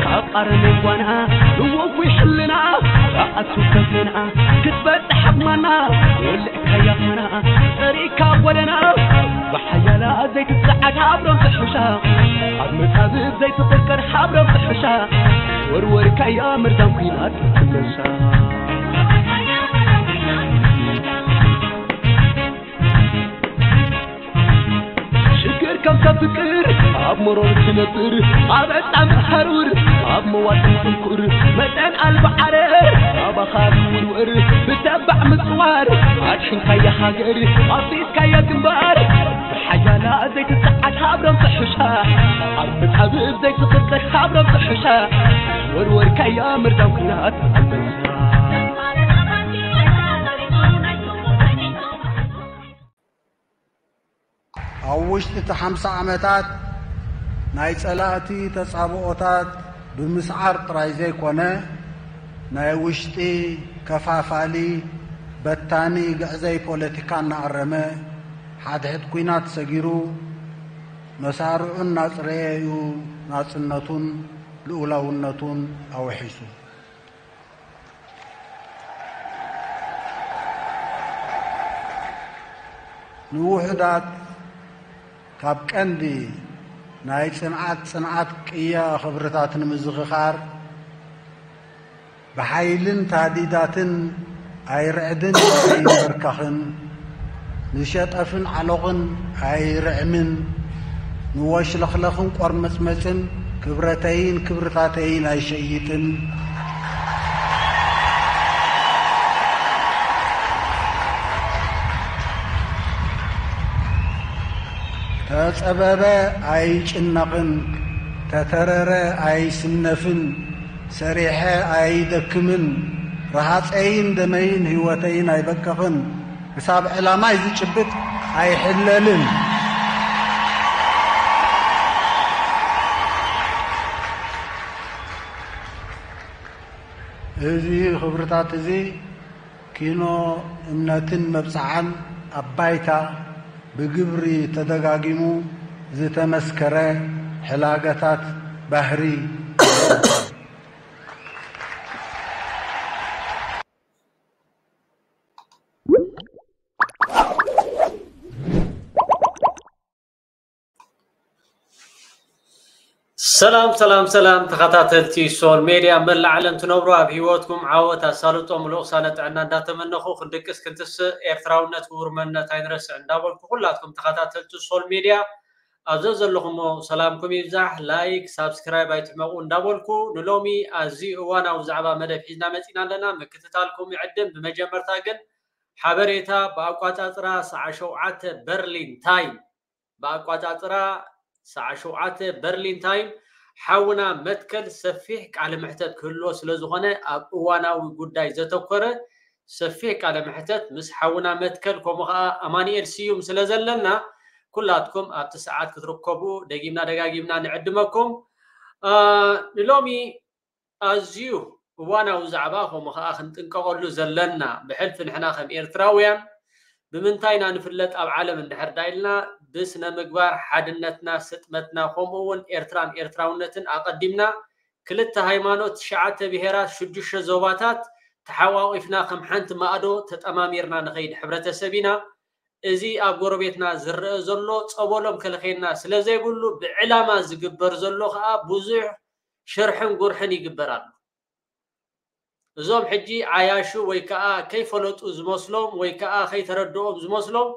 ካብ ኣረሜን ጓና ንወጉይ ሕልና ኣቱ ከፍና ክትበጽሕ ዓቕማና ወልዕካያ ኾና ጸሪካ ጎደና ብሓያላ ዘይትጸዓድ ሓብሮም ትሕሻ ኣብ መጻብብ ዘይትቕርቀር ሓብሮም ትሕሻ ወርወርካያ መርዛም ኲናት ትመሻ ሽግር ከም ሰብ ፍቅር ኣብ መሮር ትነብር ኣብ ዕጣን ሃሩር ኣብ መዋጥን ጽንኩር መጠን ኣልባ ዓረር ኣባኻ ክውርወር ብተባዕ ምጽዋር ኣድሕንካያ ሃገር ኣፍሪስካያ ግንባር ብሓያላ ዘይትጸዓድ ሃብሮም ትሕሻ ኣብ መጻብብ ዘይትቕርቀር ሃብሮም ትሕሻ ወርወርካያ መርዛም ኲናት ኣንበሳ ኣብ ውሽጢ እቲ ሓምሳ ዓመታት ናይ ጸላእቲ ተጻብኦታት ብምስዓር ጥራይ ዘይኮነ፣ ናይ ውሽጢ ከፋፋሊ፣ በታኒ፣ ግዕዘይ ፖለቲካ እናኣረመ፣ ሓድሕድ ኲናት ሰጊሩ፣ መሳርዑ እናጽረየ እዩ ናጽነቱን ልኡላውነቱን ኣውሒሱ። ንውሑዳት ካብ ቀንዲ ናይ ጽንዓት ጽንዓት ቅያ ክብርታት ንምዝኽኻር ብሓይልን ታህዲዳትን ኣይርዕድን ኣይንበርካኽን ንሸጠፍን ዓሎቕን ኣይርዕምን ንወሽለኽለኽን ቆርመጽመጽን ክብረተይን ክብርታተይን ኣይሸይጥን። ተጸበበ ኣይጭነቕን፣ ተተረረ ኣይስነፍን፣ ሰሪሐ ኣይደክምን፣ ረሃጸይን ደመይን ህይወተይን ኣይበቅቕን፣ ክሳብ ዕላማይ ዝጭብጥ ኣይሕለልን። እዚ ክብርታት እዚ ኪኖ እምነትን መብጽዓን ኣብ ባይታ ብግብሪ ተደጋጊሙ ዝተመስከረ ሕላገታት ባህሪ ሰላም ሰላም ሰላም ተኸታተልቲ ሶል ሜድያ መላእ ዓለም ትነብሩ ኣብ ህይወትኩም ዓወት ኣሳልጦ ምሉእ ቅሳነ ጥዕና እንዳተመነኹ ክንድቅስ ክንትስእ ኤርትራውነት ክቡር መንነት ኣይንረስዕ እንዳበልኩ ኩላትኩም ተኸታተልቲ ሶል ሜድያ ኣብ ዘዘለኹሞ ሰላምኩም ይብዛሕ ላይክ ሳብስክራይብ ኣይትሕመቑ እንዳበልኩ ንሎሚ ኣዝዩ እዋናዊ ዛዕባ መደብ ሒዝና መፂና ኣለና ምክትታልኩም ይዕድም ብመጀመርታ ግን ሓበሬታ ብኣቋፃፅራ ሰዓ ሸውዓተ በርሊን ታይም ብኣቋፃፅራ ሰዓ ሸውዓተ በርሊን ታይም ሓውና መትከል ሰፊሕ ቃለ መሕተት ክህልዎ ስለዝኾነ ኣብ እዋናዊ ጉዳይ ዘተኮረ ሰፊሕ ቃለ መሕተት ምስ ሓውና መትከል ከምኡ ከዓ ኣማኒኤል ስዩም ስለዘለና ኩላትኩም ኣብቲ ሰዓት ክትርከቡ ደጊምና ደጋጊምና ንዕድመኩም ንሎሚ ኣዝዩ እዋናዊ ዛዕባ ከምኡ ከዓ ክንጥንቀቐሉ ዘለና ብሕልፊ ንሕና ከም ኤርትራውያን ብምንታይ ኢና ንፍለጥ ኣብ ዓለም እንድሕር ዳ ኢልና ብስነ ምግባር ሓድነትና ስጥመትና ከምኡ እውን ኤርትራን ኤርትራውነትን ኣቐዲምና ክልተ ሃይማኖት ትሽዓተ ብሄራት ሽዱሽተ ዞባታት ተሓቋቒፍና ከም ሓንቲ ማእዶ ተጠማሚርና ንኸይድ ሕብረተሰብ ኢና እዚ ኣብ ጎረቤትና ዝረአ ዘሎ ጸበሎም ከልኸየና ስለ ዘይብሉ ብዕላማ ዝግበር ዘሎ ከዓ ብዙሕ ሽርሕን ጉርሕን ይግበር ኣሎ። እዞም ሕጂ ዓያሹ ወይ ከዓ ከይፈለጡ ዝመስሎም ወይ ከዓ ከይተረድኦም ዝመስሎም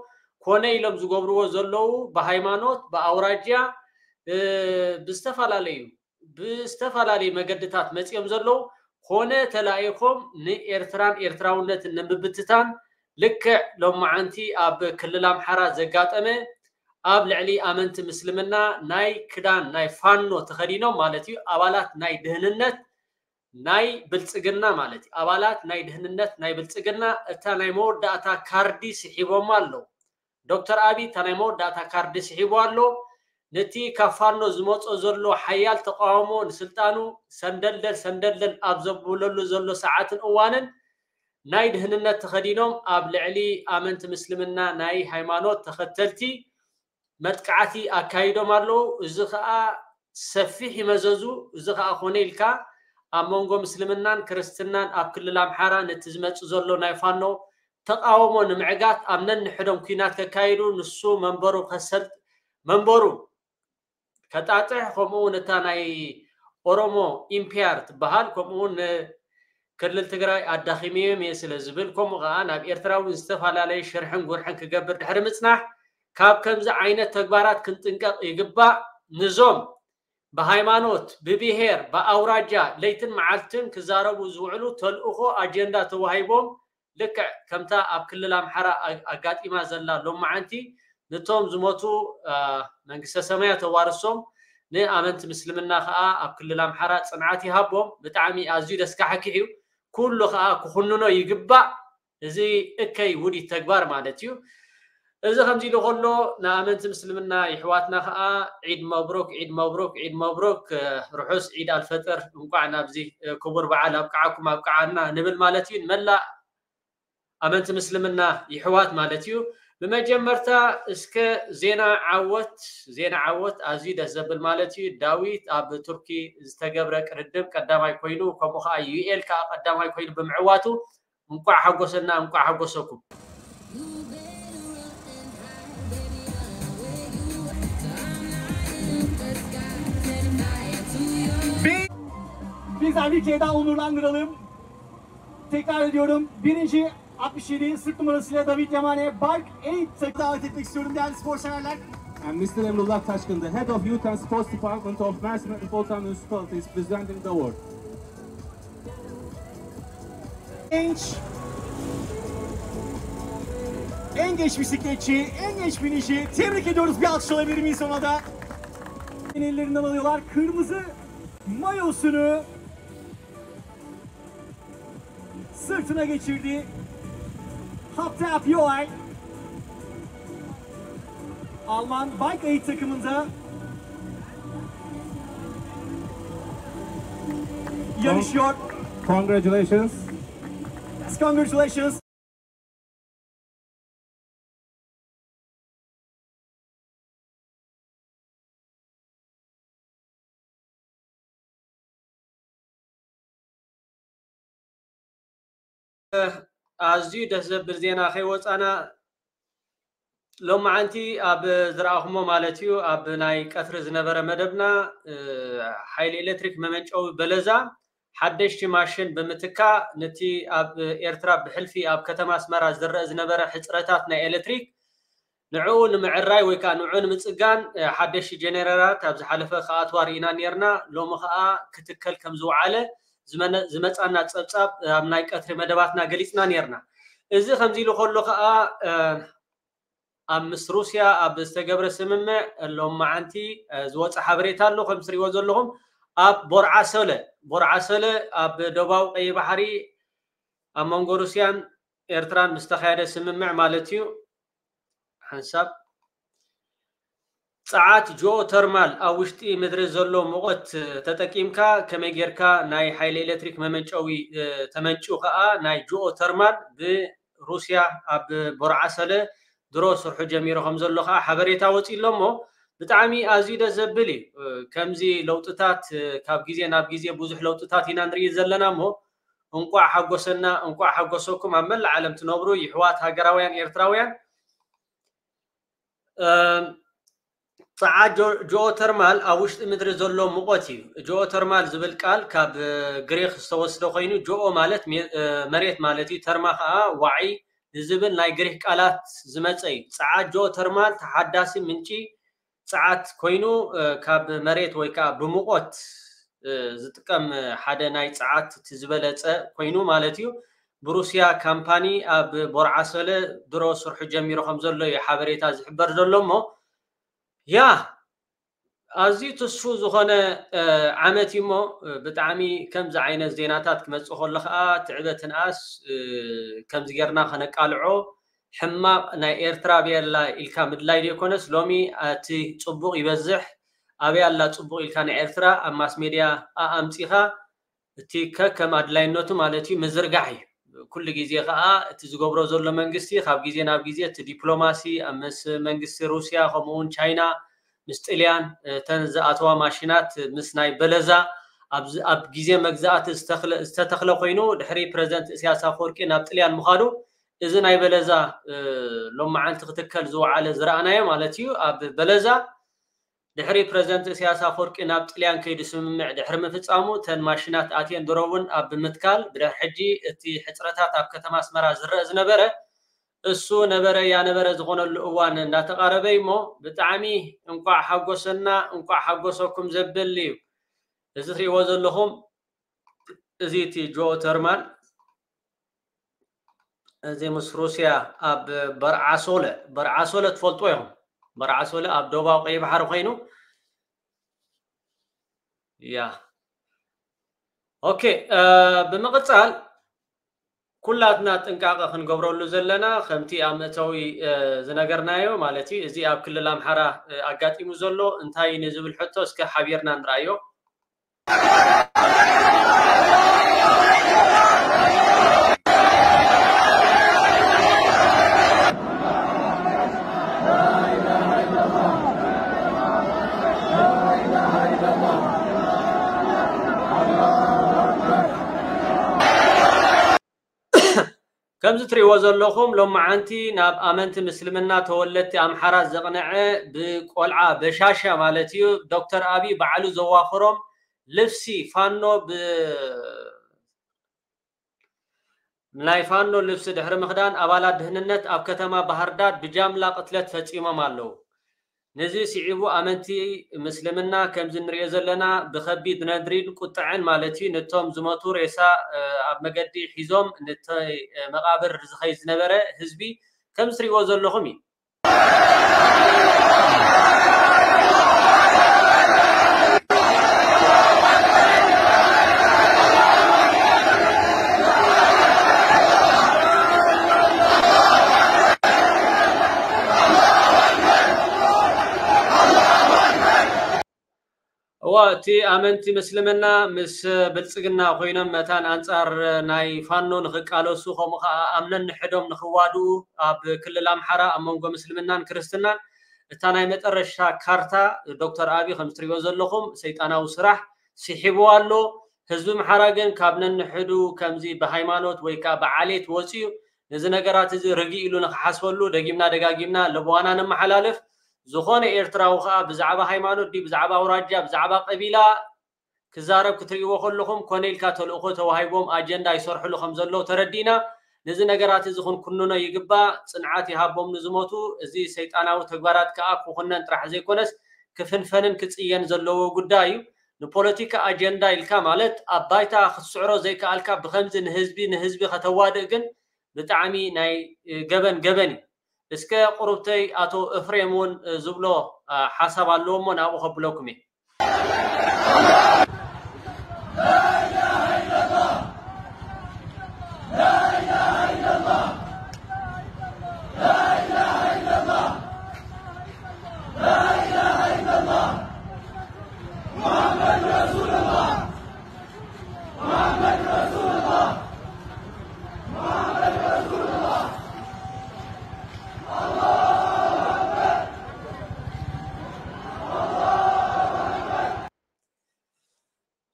ኮነ ኢሎም ዝገብርዎ ዘለዉ ብሃይማኖት ብኣውራጃ ብዝተፈላለዩ ብዝተፈላለዩ መገድታት መፂኦም ዘለዉ ኮነ ተላኢኾም ንኤርትራን ኤርትራውነትን ንምብትታን ልክዕ ሎማዓንቲ ኣብ ክልል ኣምሓራ ዘጋጠመ ኣብ ልዕሊ ኣመንቲ ምስልምና ናይ ክዳን ናይ ፋኖ ተኸዲኖም ማለት እዩ ኣባላት ናይ ድህንነት ናይ ብልፅግና ማለት እዩ ኣባላት ናይ ድህንነት ናይ ብልፅግና እታ ናይ መወዳእታ ካርዲ ስሒቦማ ኣለዉ ዶክተር ኣብይ እታ ናይ መወዳእታ ካርዲ ስሒቡ ኣሎ ነቲ ካብ ፋኖ ዝመፆ ዘሎ ሓያል ተቃውሞ ንስልጣኑ ሰንደልደል ሰንደልደል ኣብ ዘብለሉ ዘሎ ሰዓትን እዋንን ናይ ድህንነት ተኸዲኖም ኣብ ልዕሊ ኣመንቲ ምስልምና ናይ ሃይማኖት ተኸተልቲ መጥቃዕቲ ኣካይዶም ኣለዉ። እዚ ከዓ ሰፊሕ ይመዘዙ። እዚ ከዓ ኮነ ኢልካ ኣብ መንጎ ምስልምናን ክርስትናን ኣብ ክልል ኣምሓራ ነቲ ዝመጽእ ዘሎ ናይ ፋኖ ተቃውሞ ንምዕጋት ኣብ ነንሕዶም ኲናት ከካይዱ፣ ንሱ መንበሩ ከሰልጥ መንበሩ ከጣጥሕ፣ ከምኡ እውን እታ ናይ ኦሮሞ ኢምፒያር ትበሃል፣ ከምኡ እውን ክልል ትግራይ ኣዳኺምዮም እየ ስለ ዝብል፣ ከምኡ ከዓ ናብ ኤርትራ እውን ዝተፈላለየ ሽርሕን ጉርሕን ክገብር ድሕሪ ምጽናሕ፣ ካብ ከምዚ ዓይነት ተግባራት ክንጥንቀቕ ይግባእ። ንዞም ብሃይማኖት፣ ብብሄር፣ ብኣውራጃ ለይትን መዓልትን ክዛረቡ ዝውዕሉ ተልእኾ ኣጀንዳ ተዋሂቦም፣ ልክዕ ከምታ ኣብ ክልል ኣምሓራ ኣጋጢማ ዘላ ሎማዓንቲ፣ ነቶም ዝሞቱ መንግስተ ሰማያ ተዋርሶም፣ ንኣመንቲ ምስልምና ከዓ ኣብ ክልል ኣምሓራ ፅንዓት ይሃቦም። ብጣዕሚ ኣዝዩ ደስካሕክሕ እዩ። ኩሉ ከዓ ክኹንኖ ይግባእ። እዚ እከይ ውዲት ተግባር ማለት እዩ። እዚ ከምዚ ኢሉ ከሎ፣ ንኣመንቲ ምስልምና ይሕዋትና ከዓ ዒድ መብሩክ፣ ዒድ መብሩክ፣ ዒድ መብሩክ፣ ርሑስ ዒድ ኣልፈጥር፣ እንቋዕ ናብዚ ክቡር በዓል ኣብቅዓኩም ኣብቅዓና ንብል ማለት እዩ። ንመላእ ኣመንቲ ምስልምና ይሕዋት ማለት እዩ። ብመጀመርታ እስከ ዜና ዓወት፣ ዜና ዓወት ኣዝዩ ደስ ዘብል ማለት እዩ። ዳዊት ኣብ ቱርኪ ዝተገብረ ቅድድም ቀዳማይ ኮይኑ፣ ከምኡ ከዓ ዩኤል ከዓ ቀዳማይ ኮይኑ ብምዕዋቱ እንቋዕ ሓጎሰና፣ እንቋዕ ሓጎሰኩም። Biz Ali Ceyda Onurlandıralım. Tekrar ediyorum. Birinci altmış yedi sırt numarasıyla David Yamane, Bark eight takımı davet etmek istiyorum değerli sporseverler. And Mister Emrullah Taşkın, the head of Youth and Sports Department of Mersin Metropolitan Municipality, is presenting the award. Genç, en genç bisikletçi, en genç binici. Tebrik ediyoruz. Bir alkış alabilir miyiz ona da? Ellerinden alıyorlar. Kırmızı mayosunu sırtına geçirdi. Hatta Pioay, Alman Bike Aid takımında yarışıyor. Congratulations. Congratulations. ኣዝዩ ደስ ዘብል ዜና ከይወፃና ሎማዓንቲ ኣብ ዝረኣኹሞ ማለት እዩ ኣብ ናይ ቀትሪ ዝነበረ መደብና ሓይሊ ኤሌክትሪክ መመንጨዊ በለዛ ሓደሽቲ ማሽን ብምትካእ ነቲ ኣብ ኤርትራ ብሕልፊ ኣብ ከተማ ኣስመራ ዝረአ ዝነበረ ሕፅረታት ናይ ኤሌክትሪክ ንዕኡ ንምዕራይ ወይ ከዓ ንዕኡ ንምፅጋን ሓደሽቲ ጀነሬተራት ኣብ ዝሓለፈ ክኣትዋ ርኢና ነርና። ሎሚ ከዓ ክትከል ከም ዝወዓለ ዝመፃና ፀብፃብ ኣብ ናይ ቀትሪ መደባትና ገሊፅና ነርና። እዚ ከምዚ ኢሉ ከሎ ከዓ ኣብ ምስ ሩስያ ኣብ ዝተገብረ ስምምዕ ሎማዓንቲ ዝወፀ ሓበሬታ ኣሎ። ከም ትሪእዎ ዘለኹም ኣብ ቦርዓሰለ ቦርዓሰለ ኣብ ደቡባዊ ቀይ ባሕሪ ኣብ መንጎ ሩስያን ኤርትራን ምስ ተኻየደ ስምምዕ ማለት እዩ። ሓንሳብ ፀዓት ጂኦ ተርማል ኣብ ውሽጢ ምድሪ ዘሎ ሙቐት ተጠቂምካ ከመይ ጌርካ ናይ ሓይሊ ኤሌክትሪክ መመንጨዊ ተመንጭው ከዓ ናይ ጂኦ ተርማል ብሩስያ ኣብ ቦርዓሰለ ድሮ ስርሑ ጀሚሩ ከም ዘሎ ከዓ ሓበሬታ ወፂኡ ኣሎ እሞ ብጣዕሚ ኣዝዩ ደስ ዘብል እዩ። ከምዚ ለውጥታት ካብ ግዜ ናብ ግዜ ብዙሕ ለውጥታት ኢና ንርኢ ዘለና እሞ እንቋዕ ሓጎሰና እንቋዕ ሓጎሰኩም ኣብ መላእ ዓለም ትነብሩ ይሕዋት ሃገራውያን ኤርትራውያን። ፀዓት ጂኦተርማል ኣብ ውሽጢ ምድሪ ዘሎ ሙቐት እዩ። ጂኦተርማል ዝብል ቃል ካብ ግሪክ ዝተወስደ ኮይኑ ጂኦ ማለት መሬት ማለት እዩ። ተርማ ከዓ ዋዒ ንዝብል ናይ ግሪክ ቃላት ዝመፀ እዩ። ፀዓት ጂኦተርማል ተሓዳሲ ምንጪ ፀዓት ኮይኑ ካብ መሬት ወይ ከዓ ብሙቐት ዝጥቀም ሓደ ናይ ፀዓት እቲ ዝበለፀ ኮይኑ ማለት እዩ። ብሩስያ ካምፓኒ ኣብ ቦርዓሰለ ድሮ ስርሑ ጀሚሩ ከም ዘሎ እዩ ሓበሬታ ዝሕበር ዘሎ እሞ ያ ኣዝዩ ትስፉ ዝኾነ ዓመት እዩ እሞ ብጣዕሚ ከምዚ ዓይነት ዜናታት ክመፅእ ከሎ ከዓ ትዕበ ትንኣስ። ከምዚ ጌርና ከነቃልዖ ሕማቕ ናይ ኤርትራ ኣበይ ኣላ ኢልካ ምድላይ ዘይኮነስ ሎሚ እቲ ፅቡቕ ይበዝሕ ኣበይ ኣላ ፅቡቕ ኢልካ ናይ ኤርትራ ኣብ ማስ ሜድያ ኣምፂኻ እቲ ከከም ኣድላይነቱ ማለት እዩ ምዝርጋሕ እዩ። ኩሉ ግዜ ከዓ እቲ ዝገብሮ ዘሎ መንግስቲ ካብ ግዜ ናብ ግዜ እቲ ዲፕሎማሲ ምስ መንግስቲ ሩስያ ከምኡ እውን ቻይና ምስ ጥልያን፣ እ፣ እተን ዝኣተዋ ማሽናት ምስ ናይ በለዛ ኣብ ዝ-፣ ኣብ ግዜ መግዛእቲ ዝተኽለ-፣ ዝተተኽለ ኮይኑ፣ ድሕሪ ፕረዚደንት ኢሳያስ ኣፈወርቂ ናብ ጥልያን ምኻዱ፣ እዚ ናይ በለዛ፣ እ፣ ሎማዓንቲ ክትከል ዝወዓለ ዝረኣናዮ ማለት እዩ። ኣብ በለዛ ድሕሪ ፕረዚደንት ኢሳያስ ኣፈወርቂ ናብ ጥልያን ከይዱ ስምምዕ ድሕሪ ምፍጻሙ፣ እተን ማሽናት ኣትየን ድሮ እውን ኣብ ምትካል፣ ብድሕሪ ሕጂ እቲ ሕጽረታት ኣብ ከተማ ኣስመራ ዝረአ ዝነበረ እሱ ነበረ ያነበረ ዝኾነሉ እዋን እንዳተቓረበ እዩ እሞ፣ ብጣዕሚ እንቋዕ ሓጎሰና፣ እንቋዕ ሓጎሰኩም ዘብል እዩ። እዚ ትሪእዎ ዘለኹም፣ እዚ እቲ ጂኦተርማል፣ እዚ ምስ ሩስያ ኣብ በርዓሶለ፣ በርዓሶለ ትፈልጥዎ ኢኹም። በርዓሶለ ኣብ ደቡባዊ ቀይሕ ባሕሪ ኮይኑ፣ ያ። ኦኬ፣ እ፣ ብምቕጻል ኩላትና ጥንቃቐ ክንገብረሉ ዘለና፣ ከምቲ ኣብ መእተዊ፣ እ፣ ዝነገርናዮ፣ ማለት እዩ፣ እዚ ኣብ ክልል ኣምሓራ፣ እ፣ ኣጋጢሙ ዘሎ እንታይ እዩ ንዝብል ሕቶ እስከ ሓቢርና ንርኣዮ። ከምዚ ትሪእዎ ዘለኹም፣ ሎማዓንቲ ናብ ኣመንቲ ምስልምና ተወለድቲ ኣምሓራ ዘቕነዐ ብቆልዓ በሻሻ ማለት እዩ፣ ዶክተር ኣቢ ባዕሉ ዘዋፈሮም ልብሲ ፋኖ ብ-፣ ናይ ፋኖ ልብሲ ድሕሪ ምኽዳን ኣባላት ድህንነት ኣብ ከተማ ባህርዳር ብጃምላ ቅትለት ፈጺሞም ኣለዉ። ነዚ ስዒቡ ኣመንቲ ምስልምና ከምዚ ንሪኦ ዘለና ብኸቢድ ነድሪን ቁጥዐን ማለት እዩ ነቶም ዝሞቱ ሬሳ፣ እ፣ ኣብ መገዲ ሒዞም ነቲ፣ እ፣ መቓብር ዝኸይድ ዝነበረ ህዝቢ ከምዚ ትሪእዎ ዘለኹም እዩ። እዋ፣ እቲ ኣመንቲ ምስልምና ምስ ብልጽግና ኮይኖም መታን ኣንጻር ናይ ፋኖ ንኽቃለሱ፣ ከምኡ ኸዓ ኣብ ነንሕዶም ንኽዋድኡ፣ ኣብ ክልል ኣምሓራ ኣብ መንጎ ምስልምናን ክርስትናን እታ ናይ መጠረሽታ ካርታ ዶክተር ኣቢ፣ ከም ትሪእዎ ዘለኹም፣ ሰይጣናዊ ስራሕ ስሒብዎ ኣሎ። ህዝቢ ኣምሓራ ግን ካብ ነንሕዱ ከምዚ ብሃይማኖት ወይ ከዓ ብዓሌት ወፂኡ ነዚ ነገራት እዚ ርግእ ኢሉ ንኽሓስበሉ ደጊምና ደጋጊምና ለበዋና ነመሓላልፍ። ዝኾነ ኤርትራዊ ኸዓ ብዛዕባ ሃይማኖት ድዩ፣ ብዛዕባ ኣውራጃ፣ ብዛዕባ ቀቢላ ክዛረብ ክትርእይዎ ከለኹም፣ ኮነ ኢልካ ተልእኾ ተዋሂቦም ኣጀንዳ ይሰርሕሉ ከም ዘለዉ ተረዲእና። ነዚ ነገራት እዚ ክንኩንኖ ይግባእ። ጽንዓት ይሃቦም ንዝሞቱ። እዚ ሰይጣናዊ ተግባራት ከኣ ክኹነን ጥራሕ ዘይኮነስ፣ ክፍንፈንን ክጽየን ዘለዎ ጉዳይ እዩ። ንፖለቲካ ኣጀንዳ ኢልካ፣ ማለት ኣብ ባይታ ክትስዕሮ ዘይከኣልካ፣ ብኸምዚ ንህዝቢ፣ ንህዝቢ ከተዋድእ ግን ብጣዕሚ ናይ፣ እ፣ ገበን፣ ገበን እዩ። እስከ ቁሩብተይ ኣቶ እፍሬም እውን፣ እ፣ ዝብሎ፣ እ፣ ሓሳብ ኣለዎ እሞ ናብኡ ከብለኩም እየ።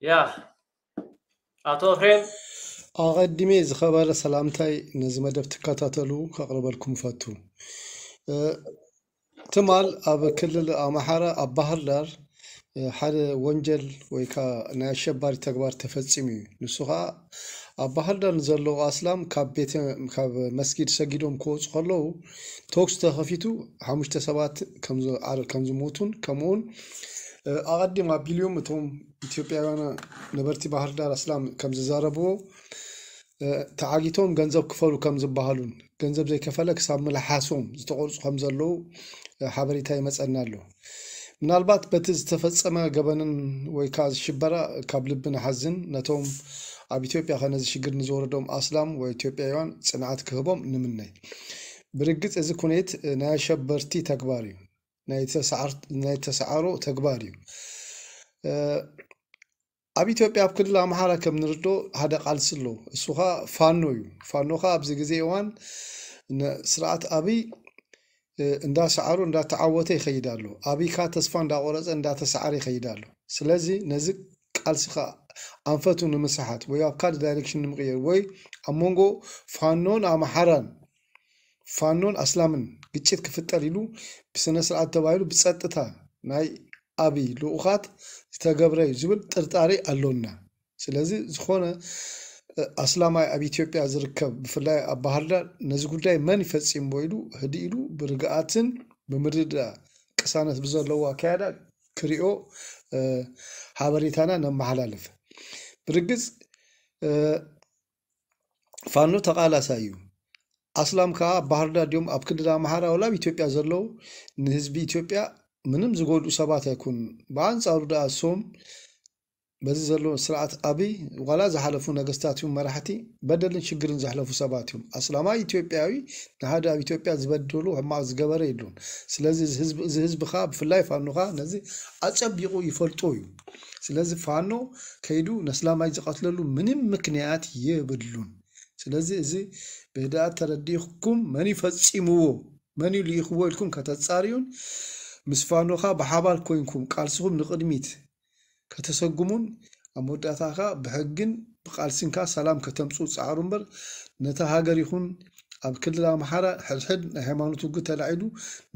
ያ፣ ኣቶ ኤፍሬም። ኣቐዲመ ዝኸበረ ሰላምታይ ነዚ መደብ ትከታተሉ ከቕርበልኩም እፈቱ። እ፣ ትማል ኣብ ክልል ኣምሓራ ኣብ ባህር ዳር፣ እ፣ ሓደ ወንጀል ወይ ከዓ ናይ ኣሸባሪ ተግባር ተፈጺሙ እዩ። ንሱ ከዓ ኣብ ባህር ዳር ንዘለዉ ኣስላም ካብ ቤተ፣ ካብ መስጊድ ሰጊዶም ክወፁ ከለዉ ተኩስ ተኸፊቱ ሓሙሽተ ሰባት ከም ዝ-፣ ዓር-፣ ከም ዝሞቱን ከምኡውን፣ እ፣ ኣቐዲም ኣቢልዮም እቶም ኢትዮጵያውያን ነበርቲ ባህር ዳር ኣስላም ከም ዝዛረብዎ፣ እ፣ ተዓጊቶም ገንዘብ ክፈሉ ከም ዝበሃሉን ገንዘብ ዘይከፈለ ክሳብ ምልሓሶም ዝተቆርጹ ከም ዘለዉ፣ እ፣ ሓበሬታ ይመጸና ኣሎ። ምናልባት በቲ ዝተፈጸመ ገበንን ወይ ከኣ ሽበራ ካብ ልቢ ንሓዝን፣ ነቶም ኣብ ኢትዮጵያ ከ ነዚ ሽግር ንዝወረዶም ኣስላም ወይ ኢትዮጵያውያን ጽንዓት ክህቦም ንምነይ። ብርግጽ እዚ ኩነት፣ እ፣ ናይ ኣሸበርቲ ተግባር እዩ። ናይ ተሰዓር-፣ ናይ ተሰዓሮ ተግባር እዩ። እ፣ ኣብ ኢትዮጵያ ኣብ ክልል ኣምሓራ ከም ንርዶ ሓደ ቃልሲ ኣሎ። እሱ ኸኣ ፋኖ እዩ። ፋኖ ኸኣ ኣብዚ ግዜ እዋን ንስርዓት ኣብይ እንዳሰዓሩ እንዳተዓወተ ይኸይድ ኣሎ። ኣብይ ከኣ ተስፋ እንዳቆረፀ እንዳተሰዓረ ይኸይድ ኣሎ። ስለዚ ነዚ ቃልሲ ከኣ ኣንፈቱ ንምስሓት ወይ ኣብ ካልእ ዳይሬክሽን ንምቕየር ወይ ኣብ መንጎ ፋኖን ኣምሓራን ፋኖን ኣስላምን ግጭት ክፍጠር ኢሉ ብስነ ስርዓት ተባሂሉ ብፀጥታ ናይ ኣብይ ልኡኻት ዝተገብረ እዩ ዝብል ጥርጣሬ ኣሎና። ስለዚ ዝኾነ ኣስላማይ ኣብ ኢትዮጵያ ዝርከብ ብፍላይ ኣብ ባህር ዳር ነዚ ጉዳይ መን ይፈፂምዎ ኢሉ ህድእ ኢሉ ብርግኣትን ብምርድዳእ ቅሳነት ብዘለዎ ኣካያዳ ክሪኦ ሓበሬታና ነመሓላልፍ። ብርግፅ ፋኖ ተቓላሳይ እዩ። ኣስላም ከዓ ኣብ ባህር ዳር ድዮም ኣብ ክልል ኣምሓራ ወላ ኣብ ኢትዮጵያ ዘለዉ ንህዝቢ ኢትዮጵያ ምንም ዝጎድኡ ሰባት ኣይኮኑን። ብኣንፃሩ ደኣ እሶም በዚ ዘሎ ስርዓት ኣብይ ዋላ ዝሓለፉ ነገስታት ይኹን መራሕቲ በደልን ሽግርን ዘሕለፉ ሰባት እዮም። ኣስላማይ ኢትዮጵያዊ ንሓደ ኣብ ኢትዮጵያ ዝበደሉ ሕማቕ ዝገበረ የሉን። ስለዚ እዚ ህዝቢ እዚ ህዝቢ ከዓ ብፍላይ ፋኖ ከዓ ነዚ ኣፀቢቑ ይፈልጦ እዩ። ስለዚ ፋኖ ከይዱ ነስላማይ ዝቐትለሉ ምንም ምክንያት የብሉን። ስለዚ እዚ ብህድኣት ተረዲእኩም መን እዩ ፈፂምዎ መን እዩ ልኢኽዎ ኢልኩም ከተፃርዩን ምስ ፋኖኻ ብሓባር ኮይንኩም ቃልስኹም ንቕድሚት ከተሰጉሙን ኣብ መወዳእታ ከዓ ብሕግን ብቃልስን ከዓ ሰላም ከተምፅኡ ፃዕሩ እምበር ነታ ሃገር ይኹን ኣብ ክልል ኣምሓራ ሕድሕድ ናይ ሃይማኖት ውግእ ተላዒሉ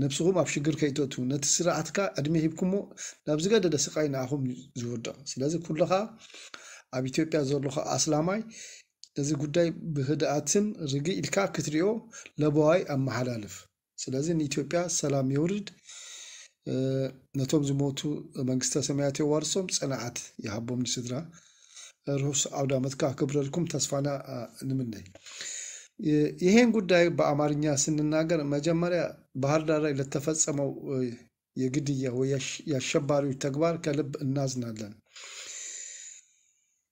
ነብስኹም ኣብ ሽግር ከይተእትዉ ነቲ ስርዓት ከዓ ዕድመ ሂብኩሞ ናብ ዝገደደ ስቃይ ንኣኹም እዩ ዝውድቕ። ስለዚ ኩልኻ ኣብ ኢትዮጵያ ዘለኻ ኣስላማይ ነዚ ጉዳይ ብህድኣትን ርግእ ኢልካ ክትሪኦ ለበዋይ ኣመሓላልፍ። ስለዚ ንኢትዮጵያ ሰላም የውርድ፣ ነቶም ዝሞቱ መንግስተ ሰማያት የዋርሶም፣ ፅንዓት ይሃቦም ንስድራ። ርሑስ ዓውደ ዓመት ከክብረልኩም ተስፋና ንምነይ። ይሄን ጉዳይ በአማርኛ ስንናገር መጀመሪያ ባህር ዳር ላይ ለተፈጸመው የግድያ ወይ የአሸባሪዎች ተግባር ከልብ እናዝናለን።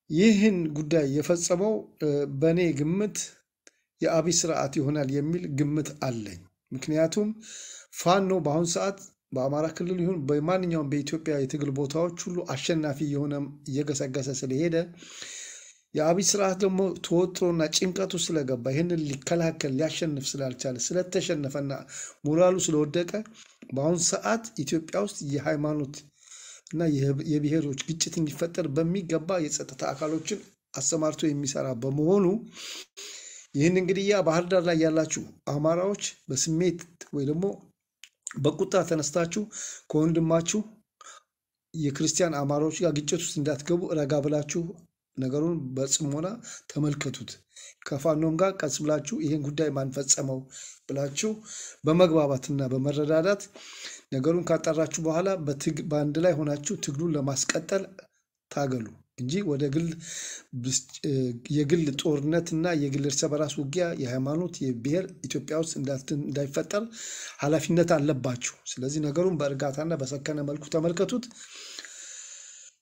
ይህን ጉዳይ የፈጸመው በእኔ ግምት የአብይ ስርዓት ይሆናል የሚል ግምት አለኝ። ምክንያቱም ፋኖ በአሁን ሰዓት በአማራ ክልል ይሁን በማንኛውም በኢትዮጵያ የትግል ቦታዎች ሁሉ አሸናፊ የሆነ እየገሰገሰ ስለሄደ የአብይ ስርዓት ደግሞ ተወጥሮና ጭንቀቱ ስለገባ ይህንን ሊከላከል ሊያሸንፍ ስላልቻለ ስለተሸነፈና ሞራሉ ስለወደቀ በአሁን ሰዓት ኢትዮጵያ ውስጥ የሃይማኖት እና የብሔሮች ግጭት እንዲፈጠር በሚገባ የጸጥታ አካሎችን አሰማርቶ የሚሰራ በመሆኑ ይህን እንግዲህ ያ ባህር ዳር ላይ ያላችሁ አማራዎች በስሜት ወይ ደግሞ በቁጣ ተነስታችሁ ከወንድማችሁ የክርስቲያን አማራዎች ጋር ግጭት ውስጥ እንዳትገቡ ረጋ ብላችሁ ነገሩን በጽሞና ተመልከቱት። ከፋኖም ጋር ቀስ ብላችሁ ይህን ጉዳይ ማን ፈጸመው ብላችሁ በመግባባትና በመረዳዳት ነገሩን ካጣራችሁ በኋላ በአንድ ላይ ሆናችሁ ትግሉን ለማስቀጠል ታገሉ እንጂ ወደ ግል የግል ጦርነትና የግል እርስ በራስ ውጊያ የሃይማኖት የብሔር ኢትዮጵያ ውስጥ እንዳይፈጠር ኃላፊነት አለባችሁ። ስለዚህ ነገሩን በእርጋታና በሰከነ መልኩ ተመልከቱት።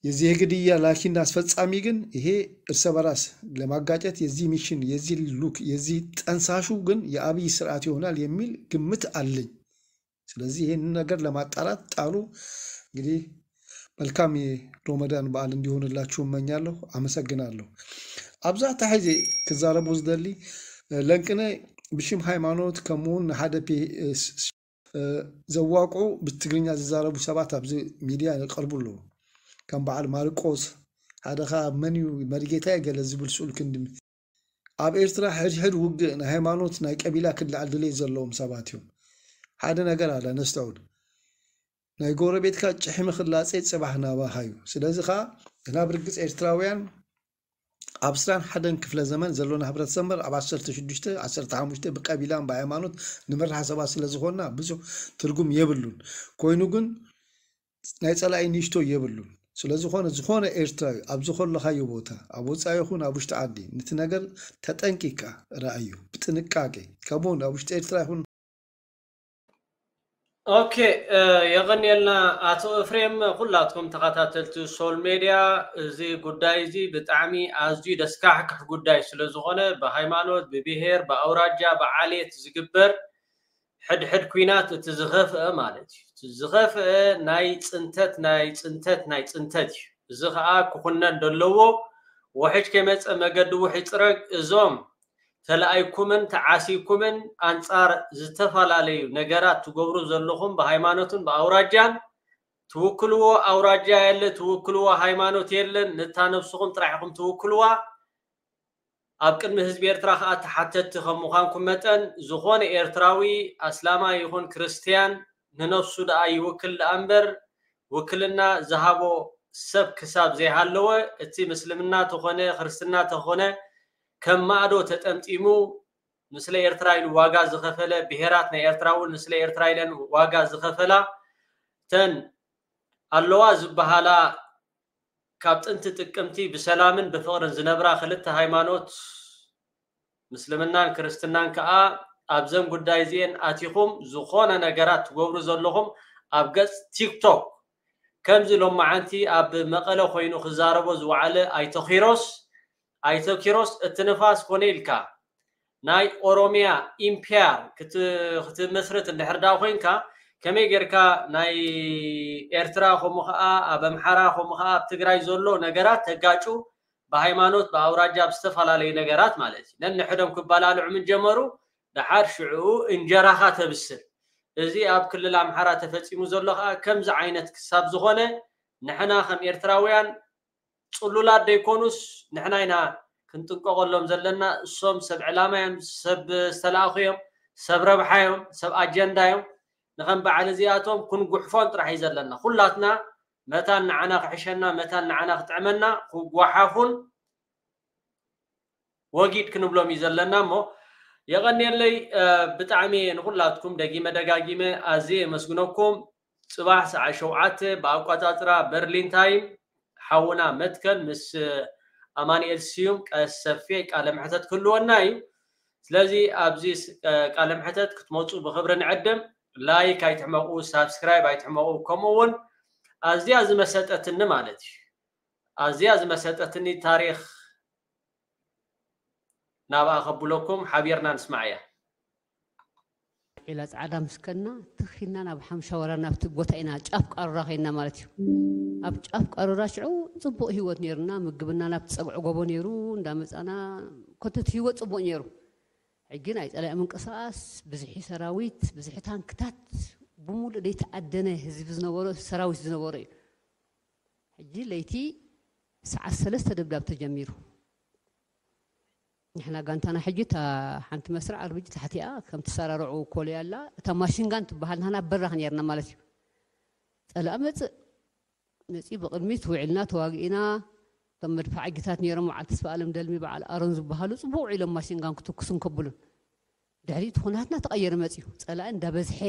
የዚህ የግድያ ላኪና አስፈጻሚ ግን ይሄ እርስ በራስ ለማጋጨት የዚህ ሚሽን የዚህ ሉክ የዚህ ጠንሳሹ ግን የአብይ ስርዓት ይሆናል የሚል ግምት አለኝ። ስለዚህ ይህንን ነገር ለማጣራት ጣሩ። እንግዲህ መልካም የሮመዳን በዓል እንዲሆንላችሁ እመኛለሁ። አመሰግናለሁ። ኣብዛ ታሕዚ ክዛረቡ ዝደሊ ለንቅነ ብሽም ሃይማኖት ከምኡውን ንሓደ ዘዋቅዑ ብትግርኛ ዝዛረቡ ሰባት ኣብዚ ሚድያ ይቀርቡ ኣለዉ። ከም በዓል ማርቆስ ሓደ ኸዓ መን እዩ መሪጌታ ገለ ዝብል ስኡል ክንዲ ኣብ ኤርትራ ሕድሕድ ውግእ ናይ ሃይማኖት ናይ ቀቢላ ክልዓል ድሌት ዘለዎም ሰባት እዮም። ሓደ ነገር ኣለ ነስተውል። ናይ ጎረቤትካ ጭሕሚ ክላፀ ፅባሕ ናባኻ እዩ። ስለዚ ከዓ ናብ ርግፅ ኤርትራውያን ኣብ ዕስራን ሓደን ክፍለ ዘመን ዘሎና ሕብረተሰብ እምበር ኣብ ዓሰርተ ሽዱሽተ ዓሰርተ ሓሙሽተ ብቀቢላን ብሃይማኖት ንምራሕ ሰባት ስለ ዝኾንና ብዙሕ ትርጉም የብሉን። ኮይኑ ግን ናይ ጸላኢ ንእሽቶ የብሉን። ስለዝኾነ ዝኾነ ኤርትራዊ ኣብ ዝኾለኻዮ ቦታ ኣብ ወጻኢ ይኹን ኣብ ውሽጢ ዓዲ ነቲ ነገር ተጠንቂቅካ ረኣዮ ብጥንቃቄ። ከምኡውን ኣብ ውሽጢ ኤርትራ ይኹን ኦኬ የቐንየልና ኣቶ እፍሬም። ኩላትኩም ተኸታተልቲ ሶል ሜድያ እዚ ጉዳይ እዚ ብጣዕሚ ኣዝዩ ደስካሕክሕ ጉዳይ ስለ ዝኾነ ብሃይማኖት ብብሄር ብኣውራጃ ብዓሌት ዝግበር ሕድሕድ ኲናት እቲ ዝኸፍአ ማለት እዩ። እቲ ዝኸፍአ ናይ ፅንተት ናይ ፅንተት ናይ ፅንተት እዩ። እዚ ከዓ ክኹነን ደለዎ። ውሕጅ ከይመፀ መገዲ ውሕ ይፅረግ። እዞም ተለኣይኩምን ተዓሲኩምን ኣንጻር ዝተፈላለዩ ነገራት ትገብሩ ዘለኹም ብሃይማኖትን ብኣውራጃን ትውክልዎ ኣውራጃ የለ፣ ትውክልዎ ሃይማኖት የለን፣ ነታ ነብስኹም ጥራሕ ኢኹም ትውክልዋ። ኣብ ቅድሚ ህዝቢ ኤርትራ ከኣ ተሓተትቲ ከም ምዃንኩም መጠን ዝኾነ ኤርትራዊ ኣስላማይ ይኹን ክርስትያን ንነብሱ ደኣ ይውክል ደኣ እምበር ውክልና ዝሃቦ ሰብ ክሳብ ዘይሃለወ እቲ ምስልምና ተኾነ ክርስትና ተኾነ ከም ማእዶ ተጠምጢሙ ንስለ ኤርትራ ኢሉ ዋጋ ዝኸፈለ ብሄራት ናይ ኤርትራ እውን ንስለ ኤርትራ ኢለን ዋጋ ዝኸፈላ ተን ኣለዋ ዝበሃላ ካብ ጥንቲ ጥቅምቲ ብሰላምን ብፍቕርን ዝነብራ ክልተ ሃይማኖት ምስልምናን ክርስትናን ከኣ ኣብዘን ጉዳይ እዚኤን ኣቲኹም ዝኾነ ነገራት ትገብሩ ዘለኹም ኣብ ገጽ ቲክቶክ ከምዚ ሎማዓንቲ ኣብ መቐለ ኮይኑ ክዛረቦ ዝወዓለ ኣይተ ኪሮስ ኣይተ ኪሮስ እቲ ንፋስ ኮነ ኢልካ ናይ ኦሮሚያ ኢምፓየር ክትመስርት እንድሕር ዳ ኮይንካ ከመይ ጌርካ ናይ ኤርትራ ከምኡ ከዓ ኣብ ኣምሓራ ከምኡ ከዓ ኣብ ትግራይ ዘሎ ነገራት ተጋጩ ብሃይማኖት ብኣውራጃ ብዝተፈላለዩ ነገራት ማለት እዩ ነንሕዶም ክባላልዑ ምን ጀመሩ ደሓር ሽዑ እንጀራኻ ተብስል እዚ ኣብ ክልል ኣምሓራ ተፈፂሙ ዘሎ ከዓ ከምዚ ዓይነት ክሳብ ዝኾነ ንሕና ከም ኤርትራውያን ፅሉላት ደይኮኑስ ንሕና ኢና ክንጥንቀቐሎም ዘለና እሶም ሰብ ዕላማ እዮም ሰብ ዝተላእኹ እዮም ሰብ ረብሓ እዮም ሰብ ኣጀንዳ እዮም ንኸም በዓል እዚኣቶም ክንጉሕፎን ጥራሕ እዩ ዘለና ኩላትና መታን ንዓና ክሕሸና መታን ንዓና ክጥዕመና ክጓሓፉን ወጊድ ክንብሎም እዩ ዘለና እሞ የቐንየለይ ብጣዕሚ ንኩላትኩም ደጊመ ደጋጊመ ኣዝየ የመስግነኩም ጽባሕ ሰዓ ሸውዓተ ብኣቋጻጽራ በርሊን ታይም ሓውና መትከል ምስ ኣማንኤል ስዩም ቀሰፌ ቃለ መሕተት ክህልወና እዩ ስለዚ ኣብዚ ቃለ መሕተት ክትመፁ ብክብሪ ንዕድም ላይክ ኣይትሕመቁ ሳብስክራይብ ኣይትሕመቁ ከምኡ እውን ኣዝያ ዝመሰጠትኒ ማለት እዩ ኣዝያ ዝመሰጠትኒ ታሪክ ናብኣ ከብለኩም ሓቢርና ንስማዕ እያ። ዒላ ጻዕዳ ምስ ከድና ትኽ ኢልና ናብ ሓምሻ ወራ ናብቲ ቦታ ኢና ጫፍ ቃሩራ ከይድና ማለት እዩ። ኣብ ጫፍ ቃሩራ ሽዑ ጽቡቕ ህይወት ነይሩና፣ ምግብና ናብቲ ጸግዒ ጎቦ ነይሩ፣ እንዳመጻና ኮተት ህይወት ጽቡቕ ነይሩ። ሕጂ ናይ ጸላኢ ምንቅስቓስ፣ ብዝሒ ሰራዊት፣ ብዝሒ ታንክታት፣ ብሙሉእ ዘይተኣደነ ህዝቢ ዝነበሮ ሰራዊት ዝነበሮ እዩ። ሕጂ ለይቲ ሰዓት ሰለስተ ደብዳብ ተጀሚሩ። ንሕና ጋንታና ሕጂ እታ ሓንቲ መስርዕ ኣርብጂ ታሕቲኣ ከም ትሰራርዑ ኮልያ ኣላ እታ ማሽንጋን ትበሃል ንሕና በራኽ ነርና ማለት እዩ። ጸላእ መጽእ መጺኡ ብቕድሚት ውዒልና ተዋጊእና እቶም መድፍዓጊታት ነይሮም በዓል ተስፋ ኣለም ደልሚ በዓል ኣሮን ዝበሃሉ ጽቡቅ ውዒሎም ማሽንጋን ክትኩሱን ከብሉን ድሕሪኡ እቲ ኩናትና ተቐየረ መጺኡ ጸላኢ እንዳበዝሐ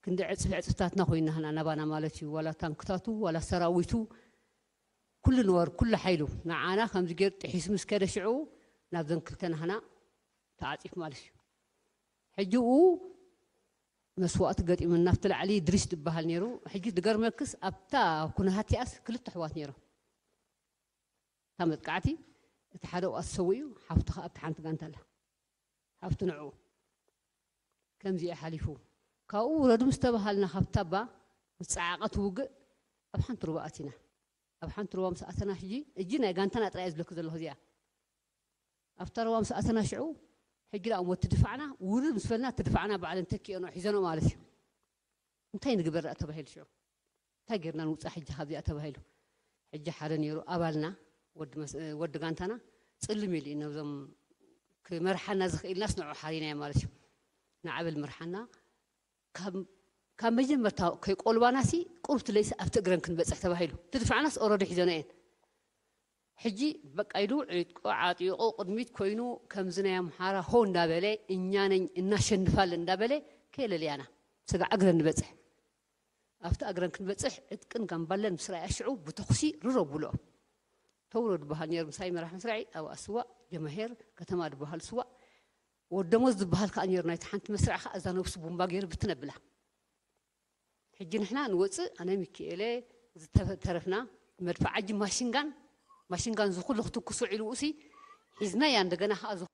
ክንዲ ዕፅፊ ዕፅፍታትና ኮይና ህና ናባና ማለት እዩ ዋላ ታንክታቱ ዋላ ሰራዊቱ ኩሉ ንወር ኩሉ ሓይሉ ንዓና ከምዚ ገይሩ ጥሒሱ ምስ ከደ ሽዑ ናብዘን ክልተ ናህና ተዓፂፍ ማለት እዩ ሕጂ ኡ መስዋእቲ ገጢሙ ናብቲ ላዕሊ ድሪስ ዝበሃል ነይሩ ሕጂ ዝገርመክስ ኣብታ ኩነሃቲኣስ ክልተ ኣሕዋት ነይሮም እታ መጥቃዕቲ እቲ ሓደ ዋ ዝሰው እዩ ሓፍቲ ከዓ ኣብቲ ሓንቲ ጋንታ ኣላ ሓፍቲ ንዕኡ ከምዚ እዩ ሓሊፉ ካብኡ ውረዱ ምስ ተባሃልና ካብታ ባ ምስ ፀዓቐ ትውግእ ኣብ ሓንቲ ሩባ ኣቲና ኣብ ሓንቲ ሩባ ምስ ኣተና ሕጂ እጂ ናይ ጋንታና ጥራይ ዝብለክ ዘለኹ እዚኣ ኣብታ ሩባ ምስ ኣተና ሽዑ ሕጂ ዳ እሞ ትድፋዕና ውርድ ምስ በልና ትድፋዕና ባዕለን ተኪኦኖ ሒዘኖ ማለት እዩ እንታይ ንግበር ደኣ ተባሂሉ ሽዑ እንታይ ጌርና ንውፃእ ሕጂ ካብዚኣ ተባሂሉ ሕጂ ሓደ ነይሩ ኣባልና ወዲ ጋንታና ፅልም ኢሉ እዩ ነብዞም ክመርሓና ዝኽእልናስ ንዑ ሓሪናዮ ማለት እዩ ንዓበል ምርሓና ካብ መጀመርታ ከይቆልባናሲ ቁርብቲ ለይሲ ኣብቲ እግረን ክንበፅሕ ተባሂሉ ትድፋዕናስ ኦረዲ ሒዘኖ እየን ሕጂ በቃ ኢሉ ዕጥቁ ዓጢቑ ቅድሚት ኮይኑ ከምዚ ናይ ኣምሓራ ሆ እንዳበለ እኛ ነኝ እናሸንፋለን እንዳበለ ከየለልያና ስጋዕ እግረን ንበፅሕ ኣብቲ እግረን ክንበፅሕ ዕጥቅን ጋምባለን ምስ ረኣያ ሽዑ ብተኹሲ ርሮ ብልኦም ተውሮ ዝበሃል ነይሩ ምሳይ መራሕ መስራዒ ኣብ ኣስዋእ ጀማሄር ከተማ ዝበሃል ስዋእ ወደሞዝ ዝበሃል ከዓ ነይሩ ናይቲ ሓንቲ መስርዕ ከዓ እዛ ነብሱ ቡምባ ገይሩ ብትነብላ ሕጂ ንሕና ንወፅእ ኣነ ሚኪኤለ ዝተረፍና መድፍዓ እጂ ማሽንጋን ማሽንጋን ዝኩሉ ክትኩስ ውዒሉ ኡሲ ሒዝናያ እንደገና ከዓ ዝኩ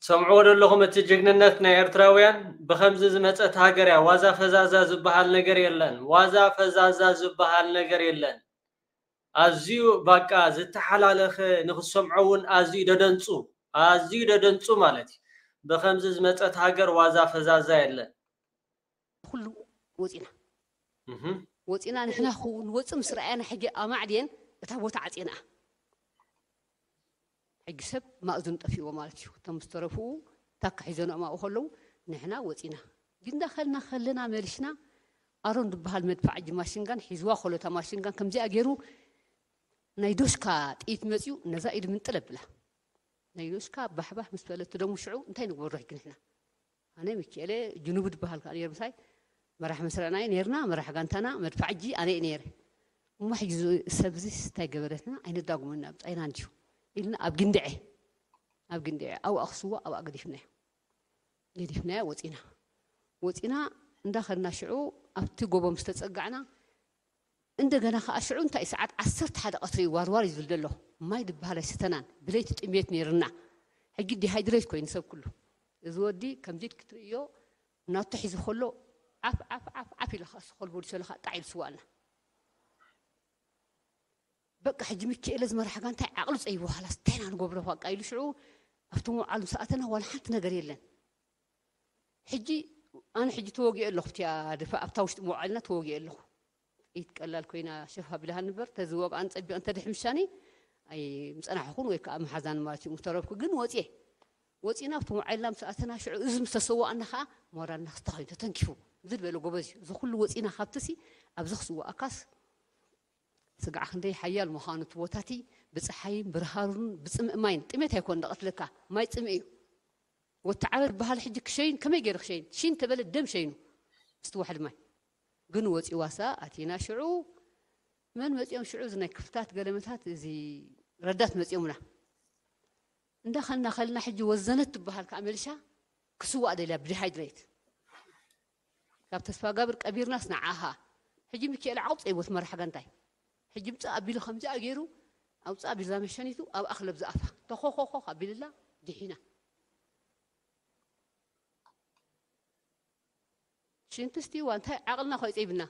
ትሰምዕዎ ዘለኹም እቲ ጅግንነት ናይ ኤርትራውያን ብኸምዚ ዝመፀት ሃገር እያ ዋዛ ፈዛዛ ዝበሃል ነገር የለን ዋዛ ፈዛዛ ዝበሃል ነገር የለን ኣዝዩ ባቃ ዝተሓላለኸ ንክሰምዖ እውን ኣዝዩ ደደንፁ ኣዝዩ ደደንጹ ማለት እዩ። ብኸምዚ ዝመጸት ሃገር ዋዛ ፈዛዛ የለን። ኩሉ ወፂና ወፂና ንሕና ክንወፅእ ምስ ረኣየና ሕጂ ኣማዕድየን እታ ቦታ ዓፅየንኣ። ሕጂ ሰብ ማእዝኑ ጠፊእዎ ማለት እዩ። እቶም ዝተረፍኡ ታካ ሒዘንኦም ኣብኡ ከለዉ ንሕና ወፂና። ግን እንዳኸልና ከለና መሊስና ኣሮን ዝበሃል መድፋዕ ሕጂ ማሽንጋን ሒዝዋ ከሎ እታ ማሽንጋን ከምዚኣ ገይሩ ናይ ዶሽካ ጥይት መፅዩ ነዛ ኢድ ምንጥል ኣብላ። ናይ ዶሽካ ባሕባሕ ምስ በለት ደሙ ሽዑ እንታይ ንግበሮ ሕጂ ንሕና? ኣነ ሚኪኤለ ጅኑቡ ዝበሃል ከዓ ነይሩ ምሳይ መራሕ መስረናይ ነይርና፣ መራሕ ጋንታና መድፋዕ ሕጂ ኣነ እየ ነይረ። እሞ ሕጂ እዚ ሰብዚ እንታይ ገበረትና? ኣይነዳጉመና ብፃይና እንዲዩ ኢልና ኣብ ግንድዐ ኣብ ግንድዐ ኣብኣ ክስዋ ኣብኣ ገዲፍናዮ ገዲፍናዮ ወፂና ወፂና እንዳኸድና ሽዑ ኣብቲ ጎቦ ምስ ተፀጋዕና እንደገና ከዓ ሽዑ እንታይ ሰዓት ዓሰርተ ሓደ ቀትሪ እዩ ዋርዋር እዩ ዝብል ዘሎ። ማይ ዝበሃል ኣይሰተናን። ብለይቲ ጥሜት ነይርና። ሕጂ ዲሃይድሬት ኮይኑ ሰብ ኩሉ። እዚ ወዲ ከምዚ ክትርእዮ ናቱ ሒዙ ከሎ ዓፍ ዓፍ ዓፍ ዓፍ ኢሉ ከዓ ስኮል ቦዲ ሰለ ከዓ ጣዕ ኢሉ ስዋልና። በቃ ሕጂ ሚኪኤለ ዝመርሓ ጋንታ ዓቕሉ ፀይቡ፣ "ኻላስ እንታይ ኢና ንገብሮ በቃ?" ኢሉ ሽዑ ኣብቲ መውዓል ምስ ኣተና ዋላ ሓንቲ ነገር የለን። ሕጂ ኣነ ሕጂ ተወጊኤ ኣለኹ፣ ኣብቲኣ ድፋ ኣብታ ውሽጢ መውዓልና ተወጊኤ ኣለኹ። ጥይት ቀላል ኮይና ሸፍ ኣቢላሃ ንበር፣ ተዝወግኣን ፀቢቐን ተድሕምሻኒ ኣይምፀናሕኹን ወይ ከዓ መሓዛን ማለት እዩ ምተረፍኩ። ግን ወፅየ ወፂና ኣብቲ መውዓልና ምስ ኣተና ሽዑ እዚ ምስ ተሰዋእና ከዓ ሞራልና ክስታ ኮይኑ ተተንኪፉ ዝል በለ ጎበዝ እዩ። እዚ ኩሉ ወፂና ካብትሲ ኣብዚ ክስዋእካስ ስጋዕ ክንደይ ሓያል ምዃኑ እቲ ቦታቲ ብፀሓይን ብርሃሩን ብፅምእ ማይን ጥሜት ኣይኮን ደቐትለካ ማይ ፅምእ እዩ። ወተዓረር በሃል ሕጂ ክሸይን ከመይ ገይሩ ክሸይን ሽን ተበለ ደም ሸይኑ ምስቲ ዋሕዲ ማይ ግን ወፂዋሳ ኣቲና ሽዑ መን መፂኦም ሽዑ እዚ ናይ ክፍታት ገለመታት እዚ ረዳት መፂኦምና እንዳኸልና ከልና ሕጂ ወዘነት ትበሃል ከዓ መሊሻ ክስዋእ ደልያ ብዲሃይድሬት ካብ ተስፋ ጋብር ቀቢርናስ ንዓኻ ሕጂ ሚካኤል ዓቕብ ፀይቦት መራሕ ጋንታይ ሕጂ ምፃእ ኣቢሉ ከምዚኣ ገይሩ ኣውፃእ ኣቢልዛ መሸኒቱ ኣብኣ ክለብ ዝኣፋ ተኾኾኾ ኣቢልላ ድሒና ሽንትስቲ ዋ እንታይ ዓቕልና ኮይ ፀይብና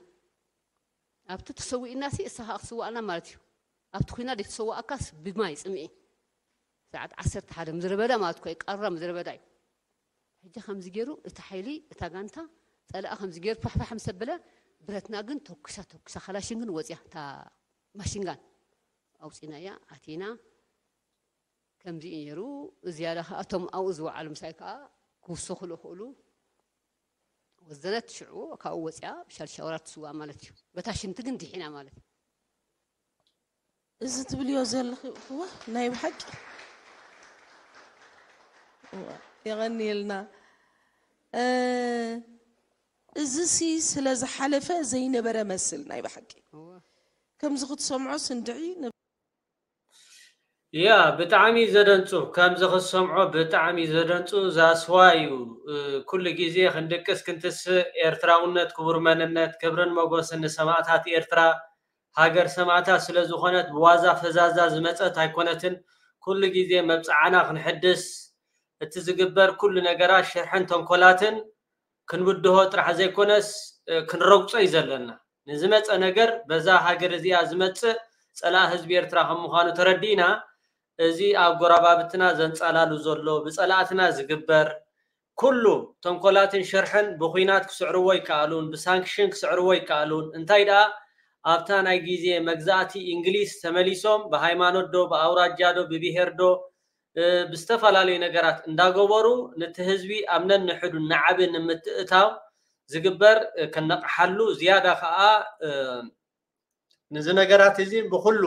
ኣብቲ ተሰዊእና ሲ እሳ ከዓ ክስዋእና ማለት እዩ ኣብቲ ኩና ደይተሰዋእካስ ብማይ ፅምኢ ሰዓት ዓሰርተ ሓደ ምድረ በዳ ማለት ኮይ ቀራ ምድረ በዳ እዩ ሕጂ ከምዚ ገይሩ እቲ ሓይሊ እታ ጋንታ ፀላእ ከምዚ ገይሩ ፋሕፋሕ ምስ ኣበለ ብረትና ግን ተኩሳ ተኩሳ ካላሽን ግን ወፅያ እታ ማሽንጋን ኣውፂናያ ኣቲና ከምዚ እዩ ነይሩ ዝያዳ ከዓ እቶም ኣብኡ ዝወዓሉ ምሳይ ከዓ ክውስኹ ዝኽእሉ ወዘነት ሽዑ ካብኡ ወፅያ ሻልሻወራ ትስዋ ማለት እዩ በታ ሽንቲ ግን ድሒና ማለት እዩ እዚ ትብልዮ ዘለኺ እወ ናይ ብሓቂ እወ፣ የቐንየልና እዚ ሲ ስለ ዝሓለፈ ዘይነበረ መስል ናይ ብሓቂ ከምዚ ክትሰምዖ ስንድዒ ያ ብጣዕሚ ዘደንጹ ከምዚ ክትሰምዖ ብጣዕሚ ዘደንጹ ዛስዋ እዩ ኩሉ ግዜ ክንድቅስ ክንትስእ ኤርትራውነት ክቡር መንነት ክብርን መጎስን ንሰማእታት ኤርትራ ሃገር ሰማእታት ስለ ዝኾነት ብዋዛ ፈዛዛ ዝመጸት ኣይኮነትን። ኩሉ ግዜ መብጽዓና ክንሕድስ፣ እቲ ዝግበር ኩሉ ነገራት ሽርሕን ተንኮላትን ክንብድሆ ጥራሕ ዘይኮነስ ክንረግጾ እዩ ዘለና። ንዝመጸ ነገር በዛ ሃገር እዚኣ ዝመጽእ ጸላኢ ህዝቢ ኤርትራ ከም ምዃኑ ተረዲእና፣ እዚ ኣብ ጎረባብትና ዘንጻላሉ ዘሎ ብጸላእትና ዝግበር ኩሉ ተንኮላትን ሽርሕን ብኹናት ክስዕርዎ ይከኣሉን ብሳንክሽን ክስዕርዎ ይከኣሉን እንታይ ደኣ ኣብታ ናይ ግዜ መግዛእቲ እንግሊዝ ተመሊሶም ብሃይማኖት ዶ ብኣውራጃ ዶ ብብሄር ዶ ብዝተፈላለዩ ነገራት እንዳገበሩ ነቲ ህዝቢ ኣብ ነንሕዱ ናዕቢ ንምትእታው ዝግበር ከነቕሓሉ ዝያዳ ከዓ ንዚ ነገራት እዚ ብኹሉ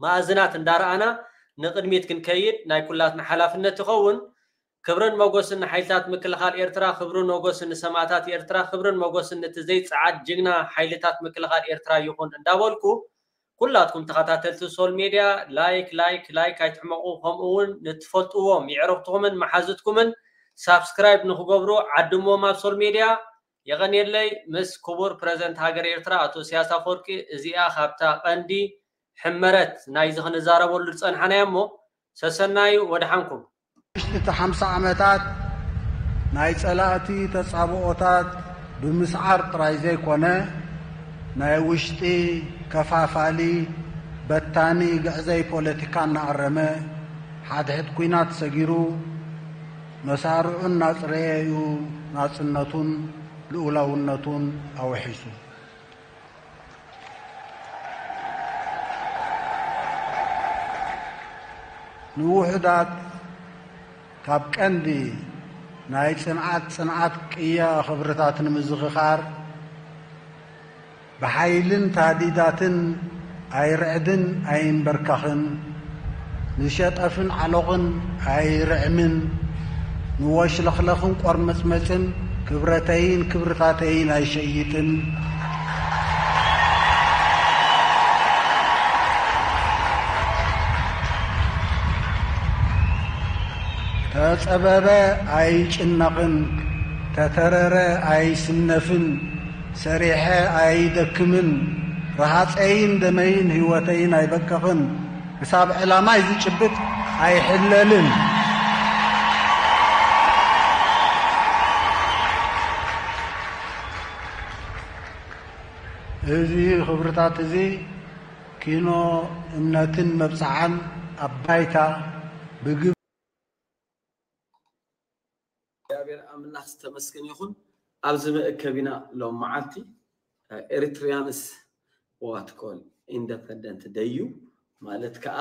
መኣዝናት እንዳረኣና ንቕድሚት ክንከይድ ናይ ኩላትና ሓላፍነት ይኸውን። ክብርን መጎስን ንሓይልታት ምክልኻል ኤርትራ፣ ክብርን መጎስን ንሰማእታት ኤርትራ፣ ክብርን መጎስን ነቲ ዘይጸዓድ ጅግና ሓይልታት ምክልኻል ኤርትራ ይኹን እንዳበልኩ ኩላትኩም ተኸታተልቲ ሶል ሜድያ ላይክ ላይክ ላይክ ኣይትሕመቑ፣ ከምኡ እውን ንትፈልጥዎም የዕሩኽትኹምን መሓዙትኩምን ሳብስክራይብ ንክገብሩ ዓድምዎም ኣብ ሶል ሜድያ። የቐንየለይ ምስ ክቡር ፕረዚደንት ሃገር ኤርትራ ኣቶ ኢሳያስ ኣፈወርቂ እዚኣ ካብታ ቀንዲ ሕመረት ናይዚ ክንዛረበሉ ዝጸንሓናዮ እሞ ሰሰናዩ ወድሓንኩም። ውሽጢ እቲ ሓምሳ ዓመታት ናይ ጸላእቲ ተጻብኦታት ብምስዓር ጥራይ ዘይኮነ ናይ ውሽጢ ከፋፋሊ በታኒ ግዕዘይ ፖለቲካ እናኣረመ ሓድሕድ ኲናት ሰጊሩ መሳርዑ እናጽረየ እዩ ናጽነቱን ልኡላውነቱን ኣውሒሱ። ንውሑዳት ካብ ቀንዲ ናይ ጽንዓት ጽንዓት ቅያ ክብርታት ንምዝኽኻር ብሓይልን ታህዲዳትን ኣይርዕድን ኣይንበርከኽን፣ ንሸጠፍን ዓሎቕን ኣይርዕምን፣ ንወሽለኽለኽን ቆርመጽመጽን ክብረተይን ክብርታተይን ኣይሸይጥን። ተጸበበ ኣይጭነቕን፣ ተተረረ ኣይስነፍን፣ ሰሪሐ ኣይደክምን፣ ረሃጸይን ደመይን ህይወተይን ኣይበቅቕን፣ ክሳብ ዕላማይ ዝጭብጥ ኣይሕለልን። እዚ ክብርታት እዚ ኪኖ እምነትን መብጽዓን ኣብ ባይታ ብግብ እግዚኣብሔር ኣምላኽ ዝተመስገነ ይኹን። ኣብዚ መእከቢና ሎም መዓልቲ ኤሪትሪያንስ ዋት ኮል ኢንደፐንደንት ደዩ ማለት ከዓ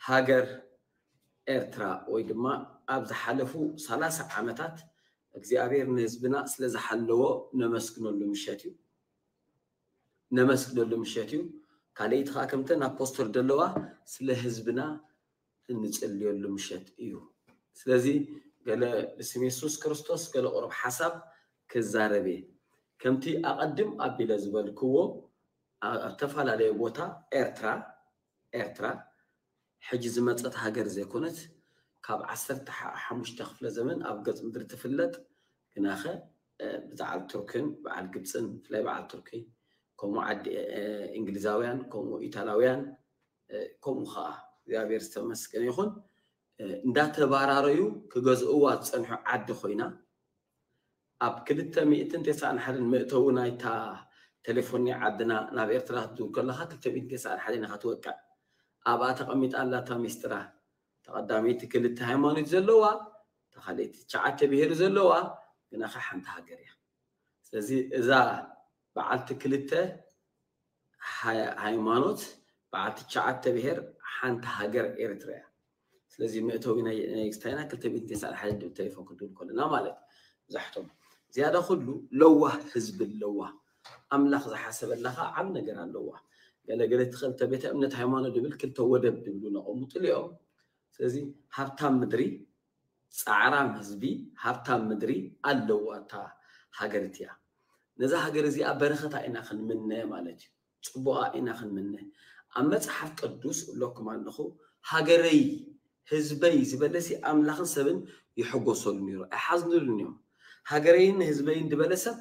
ሃገር ኤርትራ ወይ ድማ ኣብ ዝሓለፉ ሰላሳ ዓመታት እግዚኣብሔር ንህዝብና ስለ ዝሓለዎ ነመስግነሉ ምሸት እዩ። ነመስግነሉ ምሸት እዩ። ካልኣይቲ ከዓ ከምተን ኣብ ፖስተር ዘለዋ ስለ ህዝብና እንጽልየሉ ምሸት እዩ። ስለዚ ገለ ብስም የሱስ ክርስቶስ ገለ ቁሩብ ሓሳብ ክዛረብ እየ። ከምቲ ኣቐድም ኣቢለ ዝበልክዎ ኣብ ዝተፈላለየ ቦታ ኤርትራ ኤርትራ ሕጂ ዝመጸት ሃገር ዘይኮነት ካብ ዓሰርተ ሓሙሽተ ክፍለ ዘመን ኣብ ገጽ ምድሪ ትፍለጥ ግናኸ ብዓል ቱርክን በዓል ግብፅን ብፍላይ በዓል ቱርኪ ከምኡ ዓዲ እንግሊዛውያን ከምኡ ኢታላውያን ከምኡ ከዓ እግዚኣብሔር ዝተመስገነ ይኹን እንዳተባራረዩ ክገዝእዋ ዝፀንሑ ዓዲ ኮይና ኣብ ክልተ ሚእትን ተስዓን ሓደን መእተዊ ናይታ ቴሌፎን ናይ ዓድና ናብ ኤርትራ ክትዝውር ከለካ ክልተ ሚእትን ተስዓን ሓደን ኢካ ትወቅዕ ኣብኣ ተቐሚጣ ኣላታ ሚስጥራ ተቐዳመይቲ ክልተ ሃይማኖት ዘለዋ ተኻልእቲ ትሽዓተ ብሄር ዘለዋ ግናኸ ሓንቲ ሃገር እያ ስለዚ እዛ በዓልቲ ክልተ ሃይማኖት በዓልቲ ትሽዓተ ብሄር ሓንቲ ሃገር ኤርትራ እያ ስለዚ መእተዊ ናይ ክስታይና ክልተ ሚእትን ተስዓን ሓደን ድብል ቴሌፎን ክድውል ከለና ማለት ብዛሕቶም ዝያዳ ኩሉ ለዋህ ህዝቢ ኣለዋ ኣምላኽ ዝሓሰበላ ከዓ ዓብ ነገር ኣለዋ ገለገለ እቲ ክልተ ቤተ እምነት ሃይማኖት ድብል ክልተ ወደብ ድብሉ ነቐሙጥሉ እዮም ስለዚ ሃብታም ምድሪ ፃዕራም ህዝቢ ሃብታም ምድሪ ኣለዋ እታ ሃገር እቲያ ነዛ ሃገር እዚኣ በረኸታ ኢና ክንምነ ማለት እዩ ፅቡቓ ኢና ክንምነ ኣብ መፅሓፍ ቅዱስ እብለኩም ኣለኹ ሃገረይ ህዝበይ ዝበለሲ ኣምላኽን ሰብን ይሕጎሰሉ ነይሩ ኣይሓዝንሉን እዮም ሃገረይን ህዝበይን ዝበለ ሰብ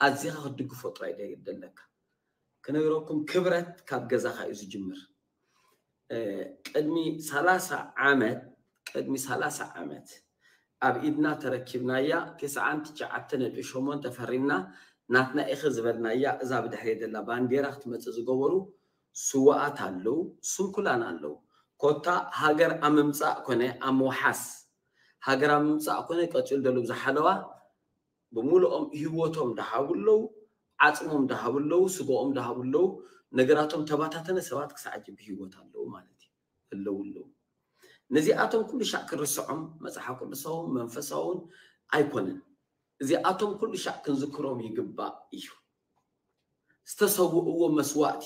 ኣዚኻ ክትድግፎ ጥራይ ደለካ ክነግረኩም ክብረት ካብ ገዛኻ እዩ ዝጅምር ቅድሚ ሰላሳ ዓመት ቅድሚ ሰላሳ ዓመት ኣብ ኢድና ተረኪብናያ ተስዓን ትሽዓተ ነጥቢ ሸሞንተ ፈሪምና ናትና ኢኺ ዝበልናያ እዛ ብድሕሪ ዘላ ባንዴራ ክትመፅእ ዝገበሩ ስዋኣት ኣለዉ ስንኩላን ኣለዉ ኮታ ሃገር ኣብ ምምፃእ ኮነ ኣብ ምውሓስ ሃገር ኣብ ምምፃእ ኮነ ቀፂሉ ደሉ ዝሓለዋ ብምሉኦም ህይወቶም ደሃቡ ኣለዉ ዓፅሞም ደሃቡ ኣለዉ ስጋኦም ደሃቡ ኣለዉ ነገራቶም ተባታተነ ሰባት ክሳዕ ሕጂ ብህይወት ኣለዉ ማለት እዩ ኣለዉ ኣለዉ ነዚኣቶም ኩሉ ሻዕ ክንርስዖም መፅሓፍ ቅዱሳውን መንፈሳውን ኣይኮነን እዚኣቶም ኩሉ ሻዕ ክንዝክሮም ይግባእ እዩ ዝተሰውእዎ መስዋእቲ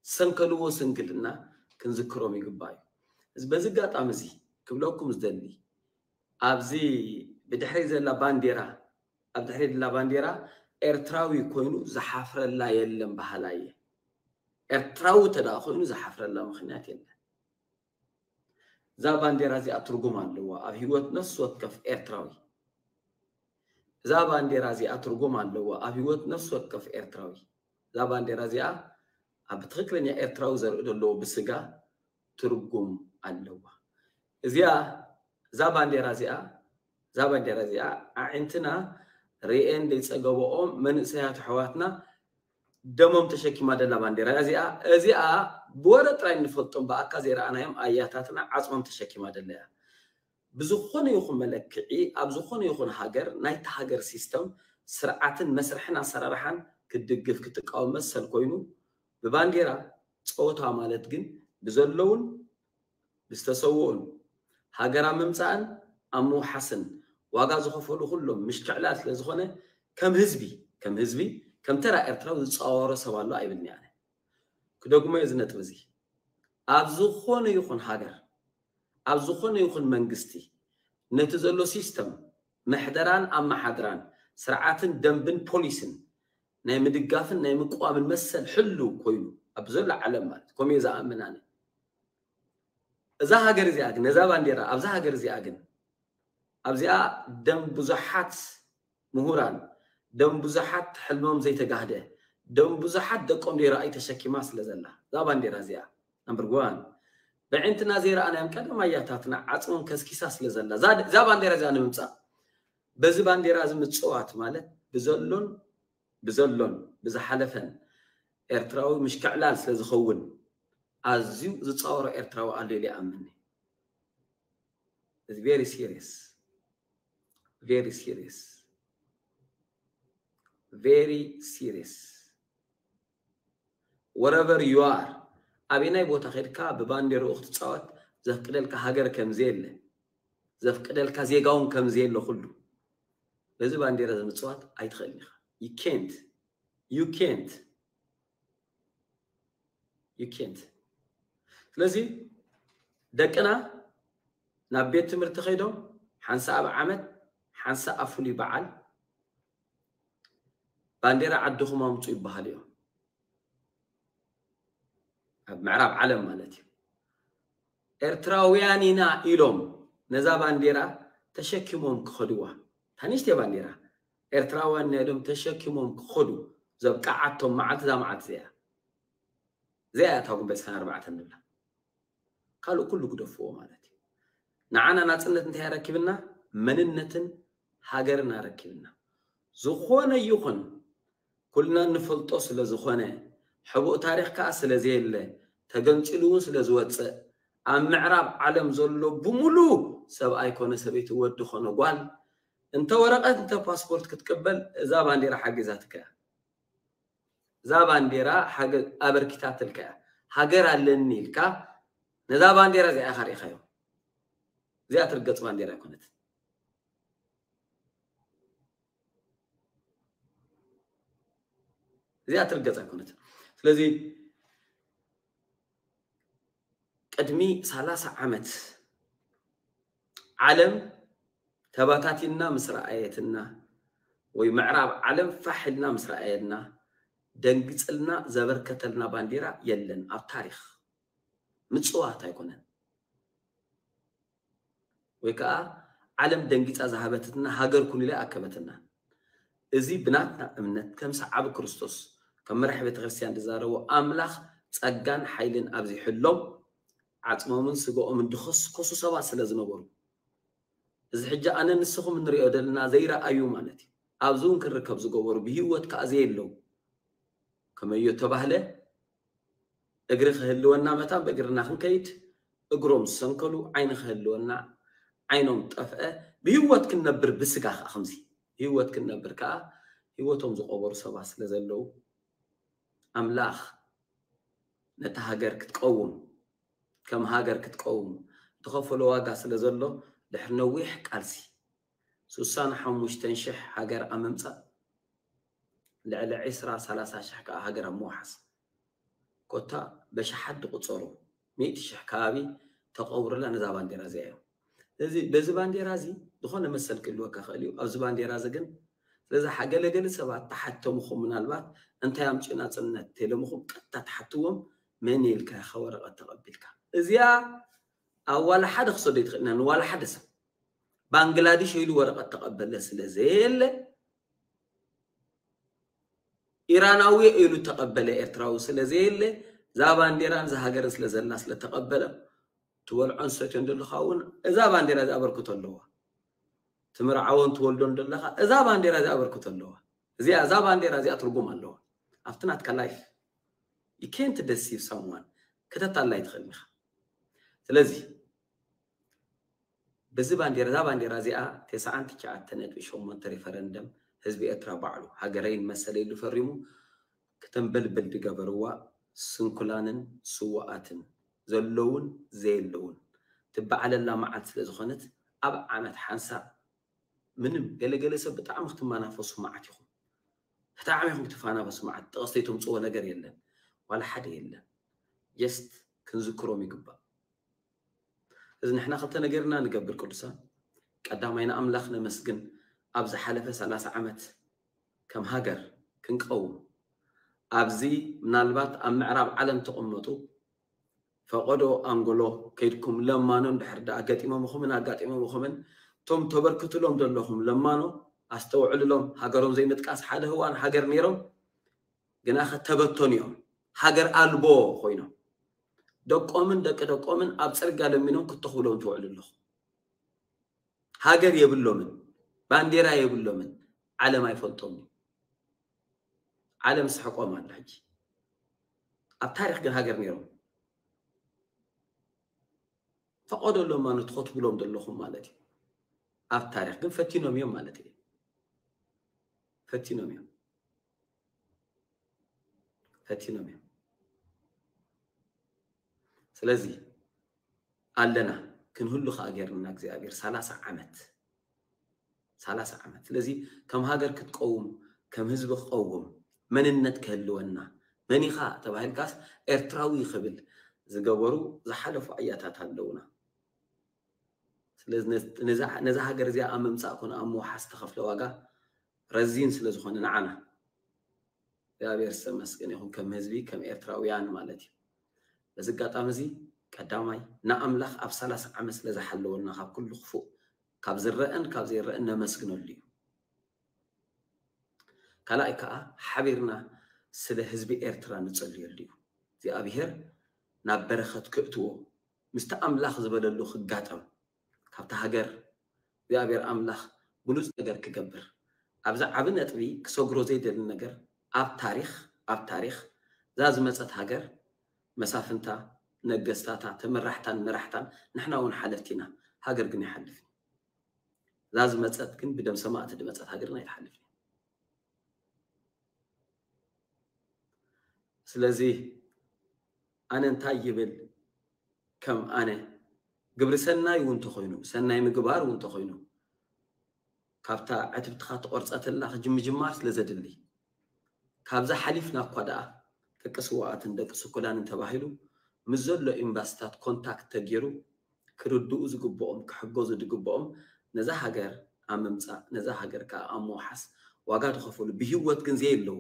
ዝሰንከልዎ ስንክልና ክንዝክሮም ይግባእ እዩ በዚ ኣጋጣሚ እዚ ክብለኩም ዝደሊ ኣብዚ ብድሕሪ ዘላ ባንዴራ ኣብ ድሕሪ ዘላ ባንዴራ ኤርትራዊ ኮይኑ ዝሓፍረላ የለን በሃላይ እየ ኤርትራዊ ተደኣ ኮይኑ ዝሓፍረላ ምኽንያት የለን እዛ ባንዴራ እዚኣ ትርጉም ኣለዋ ኣብ ህይወት ነፍሲ ወከፍ ኤርትራዊ እዛ ባንዴራ እዚኣ ትርጉም ኣለዋ ኣብ ህይወት ነፍሲ ወከፍ ኤርትራዊ እዛ ባንዴራ እዚኣ ኣብ ትኽክለኛ ኤርትራዊ ዘርኢ ዘለዎ ብስጋ ትርጉም ኣለዋ እዚኣ እዛ ባንዴራ እዚኣ እዛ ባንዴራ እዚኣ ኣዒንትና ርኤን ዘይፀገበኦም መንእሰያት ኣሕዋትና ደሞም ተሸኪማ ደላ ባንዴራ እዚኣ እዚኣ ብወረ ጥራይ እንፈልጦም ብኣካ ዘይረኣናዮም ኣያታትና ዓፅሞም ተሸኪማ ደላ እያ። ብዝኾነ ይኹን መለክዒ ኣብ ዝኾነ ይኹን ሃገር ናይቲ ሃገር ሲስተም ስርዓትን መስርሕን ኣሰራርሓን ክትድግፍ ክትቃወም መሰል ኮይኑ ብባንዴራ ፀወታ ማለት ግን ብዘለውን ብዝተሰውኡን ሃገር ኣብ ምምፃእን ኣብ ምውሓስን ዋጋ ዝኸፈሉ ኩሎም ምሽክዕላል ስለ ዝኾነ ከም ህዝቢ ከም ህዝቢ ከም ተራ ኤርትራዊ ዝፃወሮ ሰብ ኣሎ ኣይብልኒ ኣነ። ክደግሞ እዚ ነጥብ እዚ ኣብ ዝኾነ ይኹን ሃገር ኣብ ዝኾነ ይኹን መንግስቲ ነቲ ዘሎ ሲስተም ምሕደራን ኣመሓድራን ስርዓትን ደንብን ፖሊስን ናይ ምድጋፍን ናይ ምቅዋምን መሰል ሕሉ ኮይኑ ኣብ ዘሎ ዓለም ማለት ከምኡ ዝኣምን ኣነ። እዛ ሃገር እዚኣ ግን ነዛ ባንዴራ ኣብዛ ሃገር እዚኣ ግን ኣብዚኣ ደም ብዙሓት ምሁራን ደም ብዙሓት ሕልሞም ዘይተጋህደ ደም ብዙሓት ደቆም ዘይረኣዩ ተሸኪማ ስለ ዘላ እዛ ባንዴራ እዚኣ number one በዕንትና ዘይረኣናዮም ቀደም ኣያታትና ዓፅሞም ከስኪሳ ስለ ዘላ እዛ ባንዴራ እዚኣ ንምምፃእ በዚ ባንዴራ እዚ ምፅዋት ማለት ብዘሎን ብዘሎን ብዝሓለፈን ኤርትራዊ ምሽክዕላል ስለ ዝኸውን ኣዝዩ ዝፃወሮ ኤርትራዊ ኣሎ ኢለ ይኣምንኒ። It's very serious. Very serious. Very serious. Wherever you are ኣበየናይ ቦታ ኸድካ ብባንዴርኡ ክትፃወት ዘፍቅደልካ ሃገር ከምዘየለ ዘፍቅደልካ ዜጋውን ከምዘየለ ኩሉ በዚ ባንዴራ ዝምፅዋት ኣይትኽእልን ኢኻ። You can't. You can't. You can't. ስለዚ ደቅና ናብ ቤት ትምህርቲ ከይዶም ሓንሳ ኣብ ዓመት ሓንሳ ኣብ ፍሉይ በዓል ባንዴራ ዓድኹም ኣምፁ ይበሃል እዮም። ኣብ ምዕራብ ዓለም ማለት እዩ። ኤርትራውያን ኢና ኢሎም ነዛ ባንዴራ ተሸኪሞም ክኸድዋ ታንሽተ ባንዴራ ኤርትራውያን ኢና ኢሎም ተሸኪሞም ክኸዱ ዘብቃዓቶም መዓልቲ እዛ መዓልቲ እዚኣ እዚኣ እያ እታ ጉንበት ስካን ኣርባዕተ ንብላ። ካልእ ኩሉ ግደፍዎ ማለት እዩ። ንዓና ናፅነት እንታይ ኣረኪብና? መንነትን ሃገርን ኣረኪብና። ዝኾነ ይኹን ኩልና እንፈልጦ ስለ ዝኾነ ሕቡእ ታሪኽ ከዓ ስለ ዘየለ ተገንፂሉ እውን ስለ ዝወፅእ ኣብ ምዕራብ ዓለም ዘሎ ብምሉ ሰብኣይ ኮነ ሰበይቲ ወዲ ኮነ ጓል እንተ ወረቐት እንተ ፓስፖርት ክትቅበል እዛ ባንዴራ ሓጊዛትካ እያ። እዛ ባንዴራ ኣበርኪታትልካ እያ። ሃገር ኣለኒ ኢልካ ነዛ ባንዴራ እዚኣ ኢኻ ርኢኻዮ። እዚኣ ትርገፅ ባንዴራ ኣይኮነትን። እዚኣ ትርገፅ ኣይኮነትን። ስለዚ ቅድሚ ሰላሳ ዓመት ዓለም ተባታቲንና ምስ ረኣየትና ወይ ምዕራብ ዓለም ፋሕ ኢልና ምስ ረኣየና ደንግፅልና ዘበርከተልና ባንዴራ የለን ኣብ ታሪኽ ምፅዋት ኣይኮነን ወይ ከዓ ዓለም ደንጊፃ ዝሃበትትና ሃገር ኩን ኢላ ኣከበትና እዚ ብናትና እምነት ከም ሰዓቢ ክርስቶስ ከም መራሕ ቤተክርስትያን ዝዛረቦ ኣምላኽ ፀጋን ሓይልን ኣብዚሕሎም ዓፅሞምን ስጋኦምን ድኸስከሱ ሰባት ስለ ዝነበሩ እዚ ሕጂ ኣነ ንስኹም እንሪኦ ዘለና ዘይረኣዩ ማለት እዩ ኣብዚ እውን ክርከብ ዝገበሩ ብህይወት ከዓ ዘየለው ከመዮ ተባህለ እግሪ ክህልወና መታን ብእግርና ክንከይድ እግሮም ዝሰንከሉ ዓይኒ ክህልወና ዓይኖም ጠፍአ ብህይወት ክንነብር ብስጋ ከዓ ከምዚ ህይወት ክንነብር ከዓ ህይወቶም ዝቆበሩ ሰባት ስለ ዘለው ኣምላኽ ነታ ሃገር ክትቀውም ከም ሃገር ክትቀውም ዝኸፈሎ ዋጋ ስለ ዘሎ ድሕሪ ነዊሕ ቃልሲ ሱሳን ሓሙሽተን ሽሕ ሃገር ኣብ ምምፃእ ልዕሊ ዕስራ ሰላሳ ሽሕ ከዓ ሃገር ኣብ ምውሓስ ኮታ በሽሓት ዝቁፀሩ ሚእቲ ሽሕ ከባቢ ተቐብሩላ ነዛ ባንዴራ እዚኣ እዮም እዚ በዚ ባንዴራ እዚ ዝኾነ መሰል ክህልወካ ክእል እዩ ኣብዚ ባንዴራ እዚ ግን ስለዚ ሓገለገሊ ሰባት ተሓተምኹም ምናልባት እንታይ ኣምፅኡ ናፅነት ተለምኹም ቀጥታ ተሓትዎም መን ኢልካ ኢኻ ወረቐት ተቐቢልካ እዚኣ ኣብ ዋላ ሓደ ክሰዶ ይትኽእልና ንዋላ ሓደ ሰብ ባንግላዲሽ ኢሉ ወረቐት ተቐበለ ስለ ዘየለ ኢራናዊ ኢሉ ተቐበለ ኤርትራዊ ስለ ዘየለ እዛ ባንዴራን እዛ ሃገርን ስለ ዘላ ስለ ተቐበለ ትበልዖን ሰትዮን ዘለኻ እውን እዛ ባንዴራ እዚ ኣበርክቶ ኣለዋ ትምርዓዎን ትወልዶን ዘለኻ እዛ ባንዴራ እዚ ኣበርክቶ ኣለዋ እዚኣ እዛ ባንዴራ እዚኣ ትርጉም ኣለዋ ኣብቲ ናትካ life you can't deceive someone። ከተታላይ ትኽእል ኢኻ። ስለዚ በዚ ባንዴራ፣ እዛ ባንዴራ እዚኣ ተስዓን ትሽዓተን ነጥቢ ሸሞንተ ሪፈረንደም ህዝቢ ኤርትራ ባዕሉ ሃገረይን መሰለይ ኢሉ ፈሪሙ ክተንበልብል ዝገበርዋ ስንኩላንን ስዋኣትን ዘለውን ዘየለውን ትበዓለላ መዓልቲ ስለ ዝኾነት ኣብ ዓመት ሓንሳብ ምንም ገለገለ ሰብ ብጣዕሚ ክትመናፈሱ መዓት ኢኹም። ብጣዕሚ ኢኹም ክትፈናፈሱ መዓት። ጥቕሲ ተምጽዎ ነገር የለን። ዋላ ሓደ የለን። Just ክንዝክሮም ይግባእ። እዚ ንሕና ክልተ ነገር ኢና ንገብር ቅዱሳን። ቀዳማይ ንኣምላኽ ነመስግን። ኣብ ዝሓለፈ ሰላሳ ዓመት ከም ሃገር ክንቀውም ኣብዚ ምናልባት ኣብ ምዕራብ ዓለም ትቕመጡ ፈቐዶ ኣንጎሎ ከይድኩም ለማኖ እንድሕር ደኣ ገጢሞምኹምን ኣጋጢሞምኹምን እቶም ተበርክትሎም ዘለኹም ለማኖ ኣስተውዕልሎም። ሃገሮም ዘይምጥቃስ ሓደ ህዋን ሃገር ነይሮም ግና ከተበተኑ እዮም። ሃገር ኣልቦ ኮይኖም ደቆምን ደቂ ደቆምን ኣብ ጽርግያ ለሚኖም ክትተኽብሎም ትውዕሉ ኣለኹም። ሃገር የብሎምን፣ ባንዴራ የብሎምን፣ ዓለም ኣይፈልጦምን። ዓለም ስሕቆም ኣላ ሕጂ። ኣብ ታሪኽ ግን ሃገር ነይሮም። ፈቐዶ ለማኖ ትኸትብሎም ዘለኹም ማለት እዩ። ኣብ ታሪኽ ግን ፈቲኖም እዮም ማለት እዩ። ፈቲኖም እዮም። ፈቲኖም እዮም። ስለዚ ኣለና ክንህሉ ከኣ ጌርና እግዚኣብሔር ሰላሳ ዓመት ሰላሳ ዓመት። ስለዚ ከም ሃገር ክትቀውም ከም ህዝቢ ክቀውም መንነት ክህልወና መን ኢኻ ተባሂልካስ ኤርትራዊ ክብል ዝገበሩ ዝሓለፉ ኣያታት ኣለውና። ስለዚ ነዛ ሃገር እዚኣ ኣብ ምምፃእ ኮነ ኣብ ምውሓስ ዝተኸፍለ ዋጋ ረዚን ስለ ዝኾነ ንዓና እግዚኣብሔር ዝተመስገነ ይኹን ከም ህዝቢ ከም ኤርትራውያን ማለት እዩ። በዚ ኣጋጣሚ እዚ ቀዳማይ ንኣምላኽ ኣብ ሰላሳ ዓመት ስለ ዝሓለወልና ካብ ኩሉ ክፉእ ካብ ዝረአን ካብ ዘይረአን ነመስግነሉ እዩ። ካልኣይ ከዓ ሓቢርና ስለ ህዝቢ ኤርትራ ንጸልየሉ እዩ። እግዚኣብሔር ናብ በረኸት ክእትዎ ምስቲ ኣምላኽ ዝበለሉ ክጋጠም ካብቲ ሃገር እግዚኣብሔር ኣምላኽ ብሉፅ ነገር ክገብር ኣብዚ ዓቢ ነጥቢ ክሰግሮ ዘይደሊ ነገር ኣብ ታሪኽ ኣብ ታሪኽ እዛ ዝመፀት ሃገር መሳፍንታ ነገስታታ ተመራሕታን መራሕታን ንሕና እውን ሓለፍቲ ኢና። ሃገር ግን ይሓልፍ እዛ ዝመፀት ግን ብደም ሰማእቲ ዝመፀት ሃገር ግን ኣይትሓልፍን። ስለዚ ኣነ እንታይ ይብል ከም ኣነ ግብሪ ሰናይ እውን ተኾይኑ ሰናይ ምግባር እውን ተኾይኑ ካብታ ዕትብትኻ ትቆርፀትላ ክጅምጅማር ስለ ዘድሊ ካብዛ ሓሊፍና እኳ ደኣ ደቂ ስዋኣትን ደቂ ስኩላንን ተባሂሉ ምስ ዘሎ ኤምባስታት ኮንታክት ተገይሩ ክርድኡ ዝግብኦም ክሕገዙ ዝግብኦም ነዛ ሃገር ኣብ ምምፃእ ነዛ ሃገር ከዓ ኣብ ምውሓስ ዋጋ ዝኸፈሉ ብሂወት ግን ዘየለዉ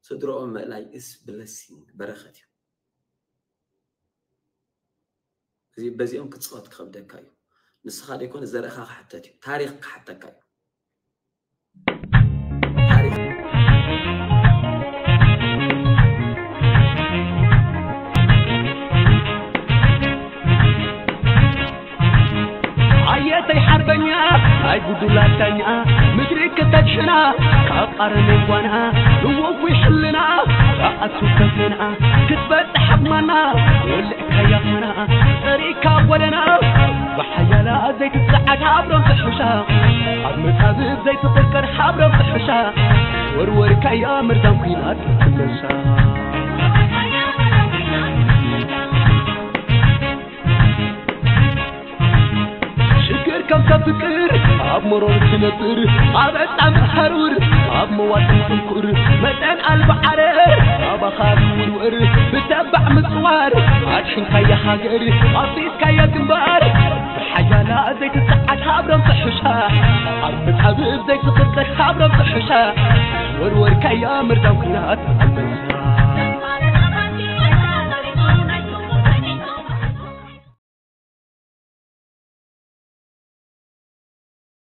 ስድረኦም ምእላይ is blessing በረኸት እዩ። እዚ በዚኦም ክትፅወት ክኸብደካ እዩ። ንስኻ ዘይኮነ ዘርእኻ ክሕተት እዩ። ታሪኽ ክሓተካ እዩ። ታሪኽ ኣየተይ ሓርበኛ ናይ ጉዱላታኛ ምድሪ ከተድሕና ካብ ኣረሜን ጓና ንወጉ ይሕልና ኣኣቱ ከፍና ክትበጽሕ ኣቕማና ወልዕካያ ኾና ጸሪካ ጎደና ብሓያላ ዘይትጸዓድ ሓብሮም ትሕሻ ኣብ መጻብብ ዘይትቕርቀር ሓብሮም ትሕሻ ወርወርካያ መርዛም ኲናት ትመሳ ሽግር ከም ተፍቅር ኣብ መሮር ትነብር ኣብ ዕጣን ሓሩር ኣብ መዋጥን ትንኩር መጠን ኣልባ ዓረር ኣባኻ ትውርወር ብተባዕ ምጽዋር ኣድሕንካያ ሃገር ኣፍሪስካያ ግንባር ብሓያላ ዘይትጸዓድ ሃብሮም ትሕሻ ኣብ መጻብብ ዘይትቕርቀር ሃብሮም ትሕሻ ወርወርካያ መርዛም ኲናት ኣንበሳ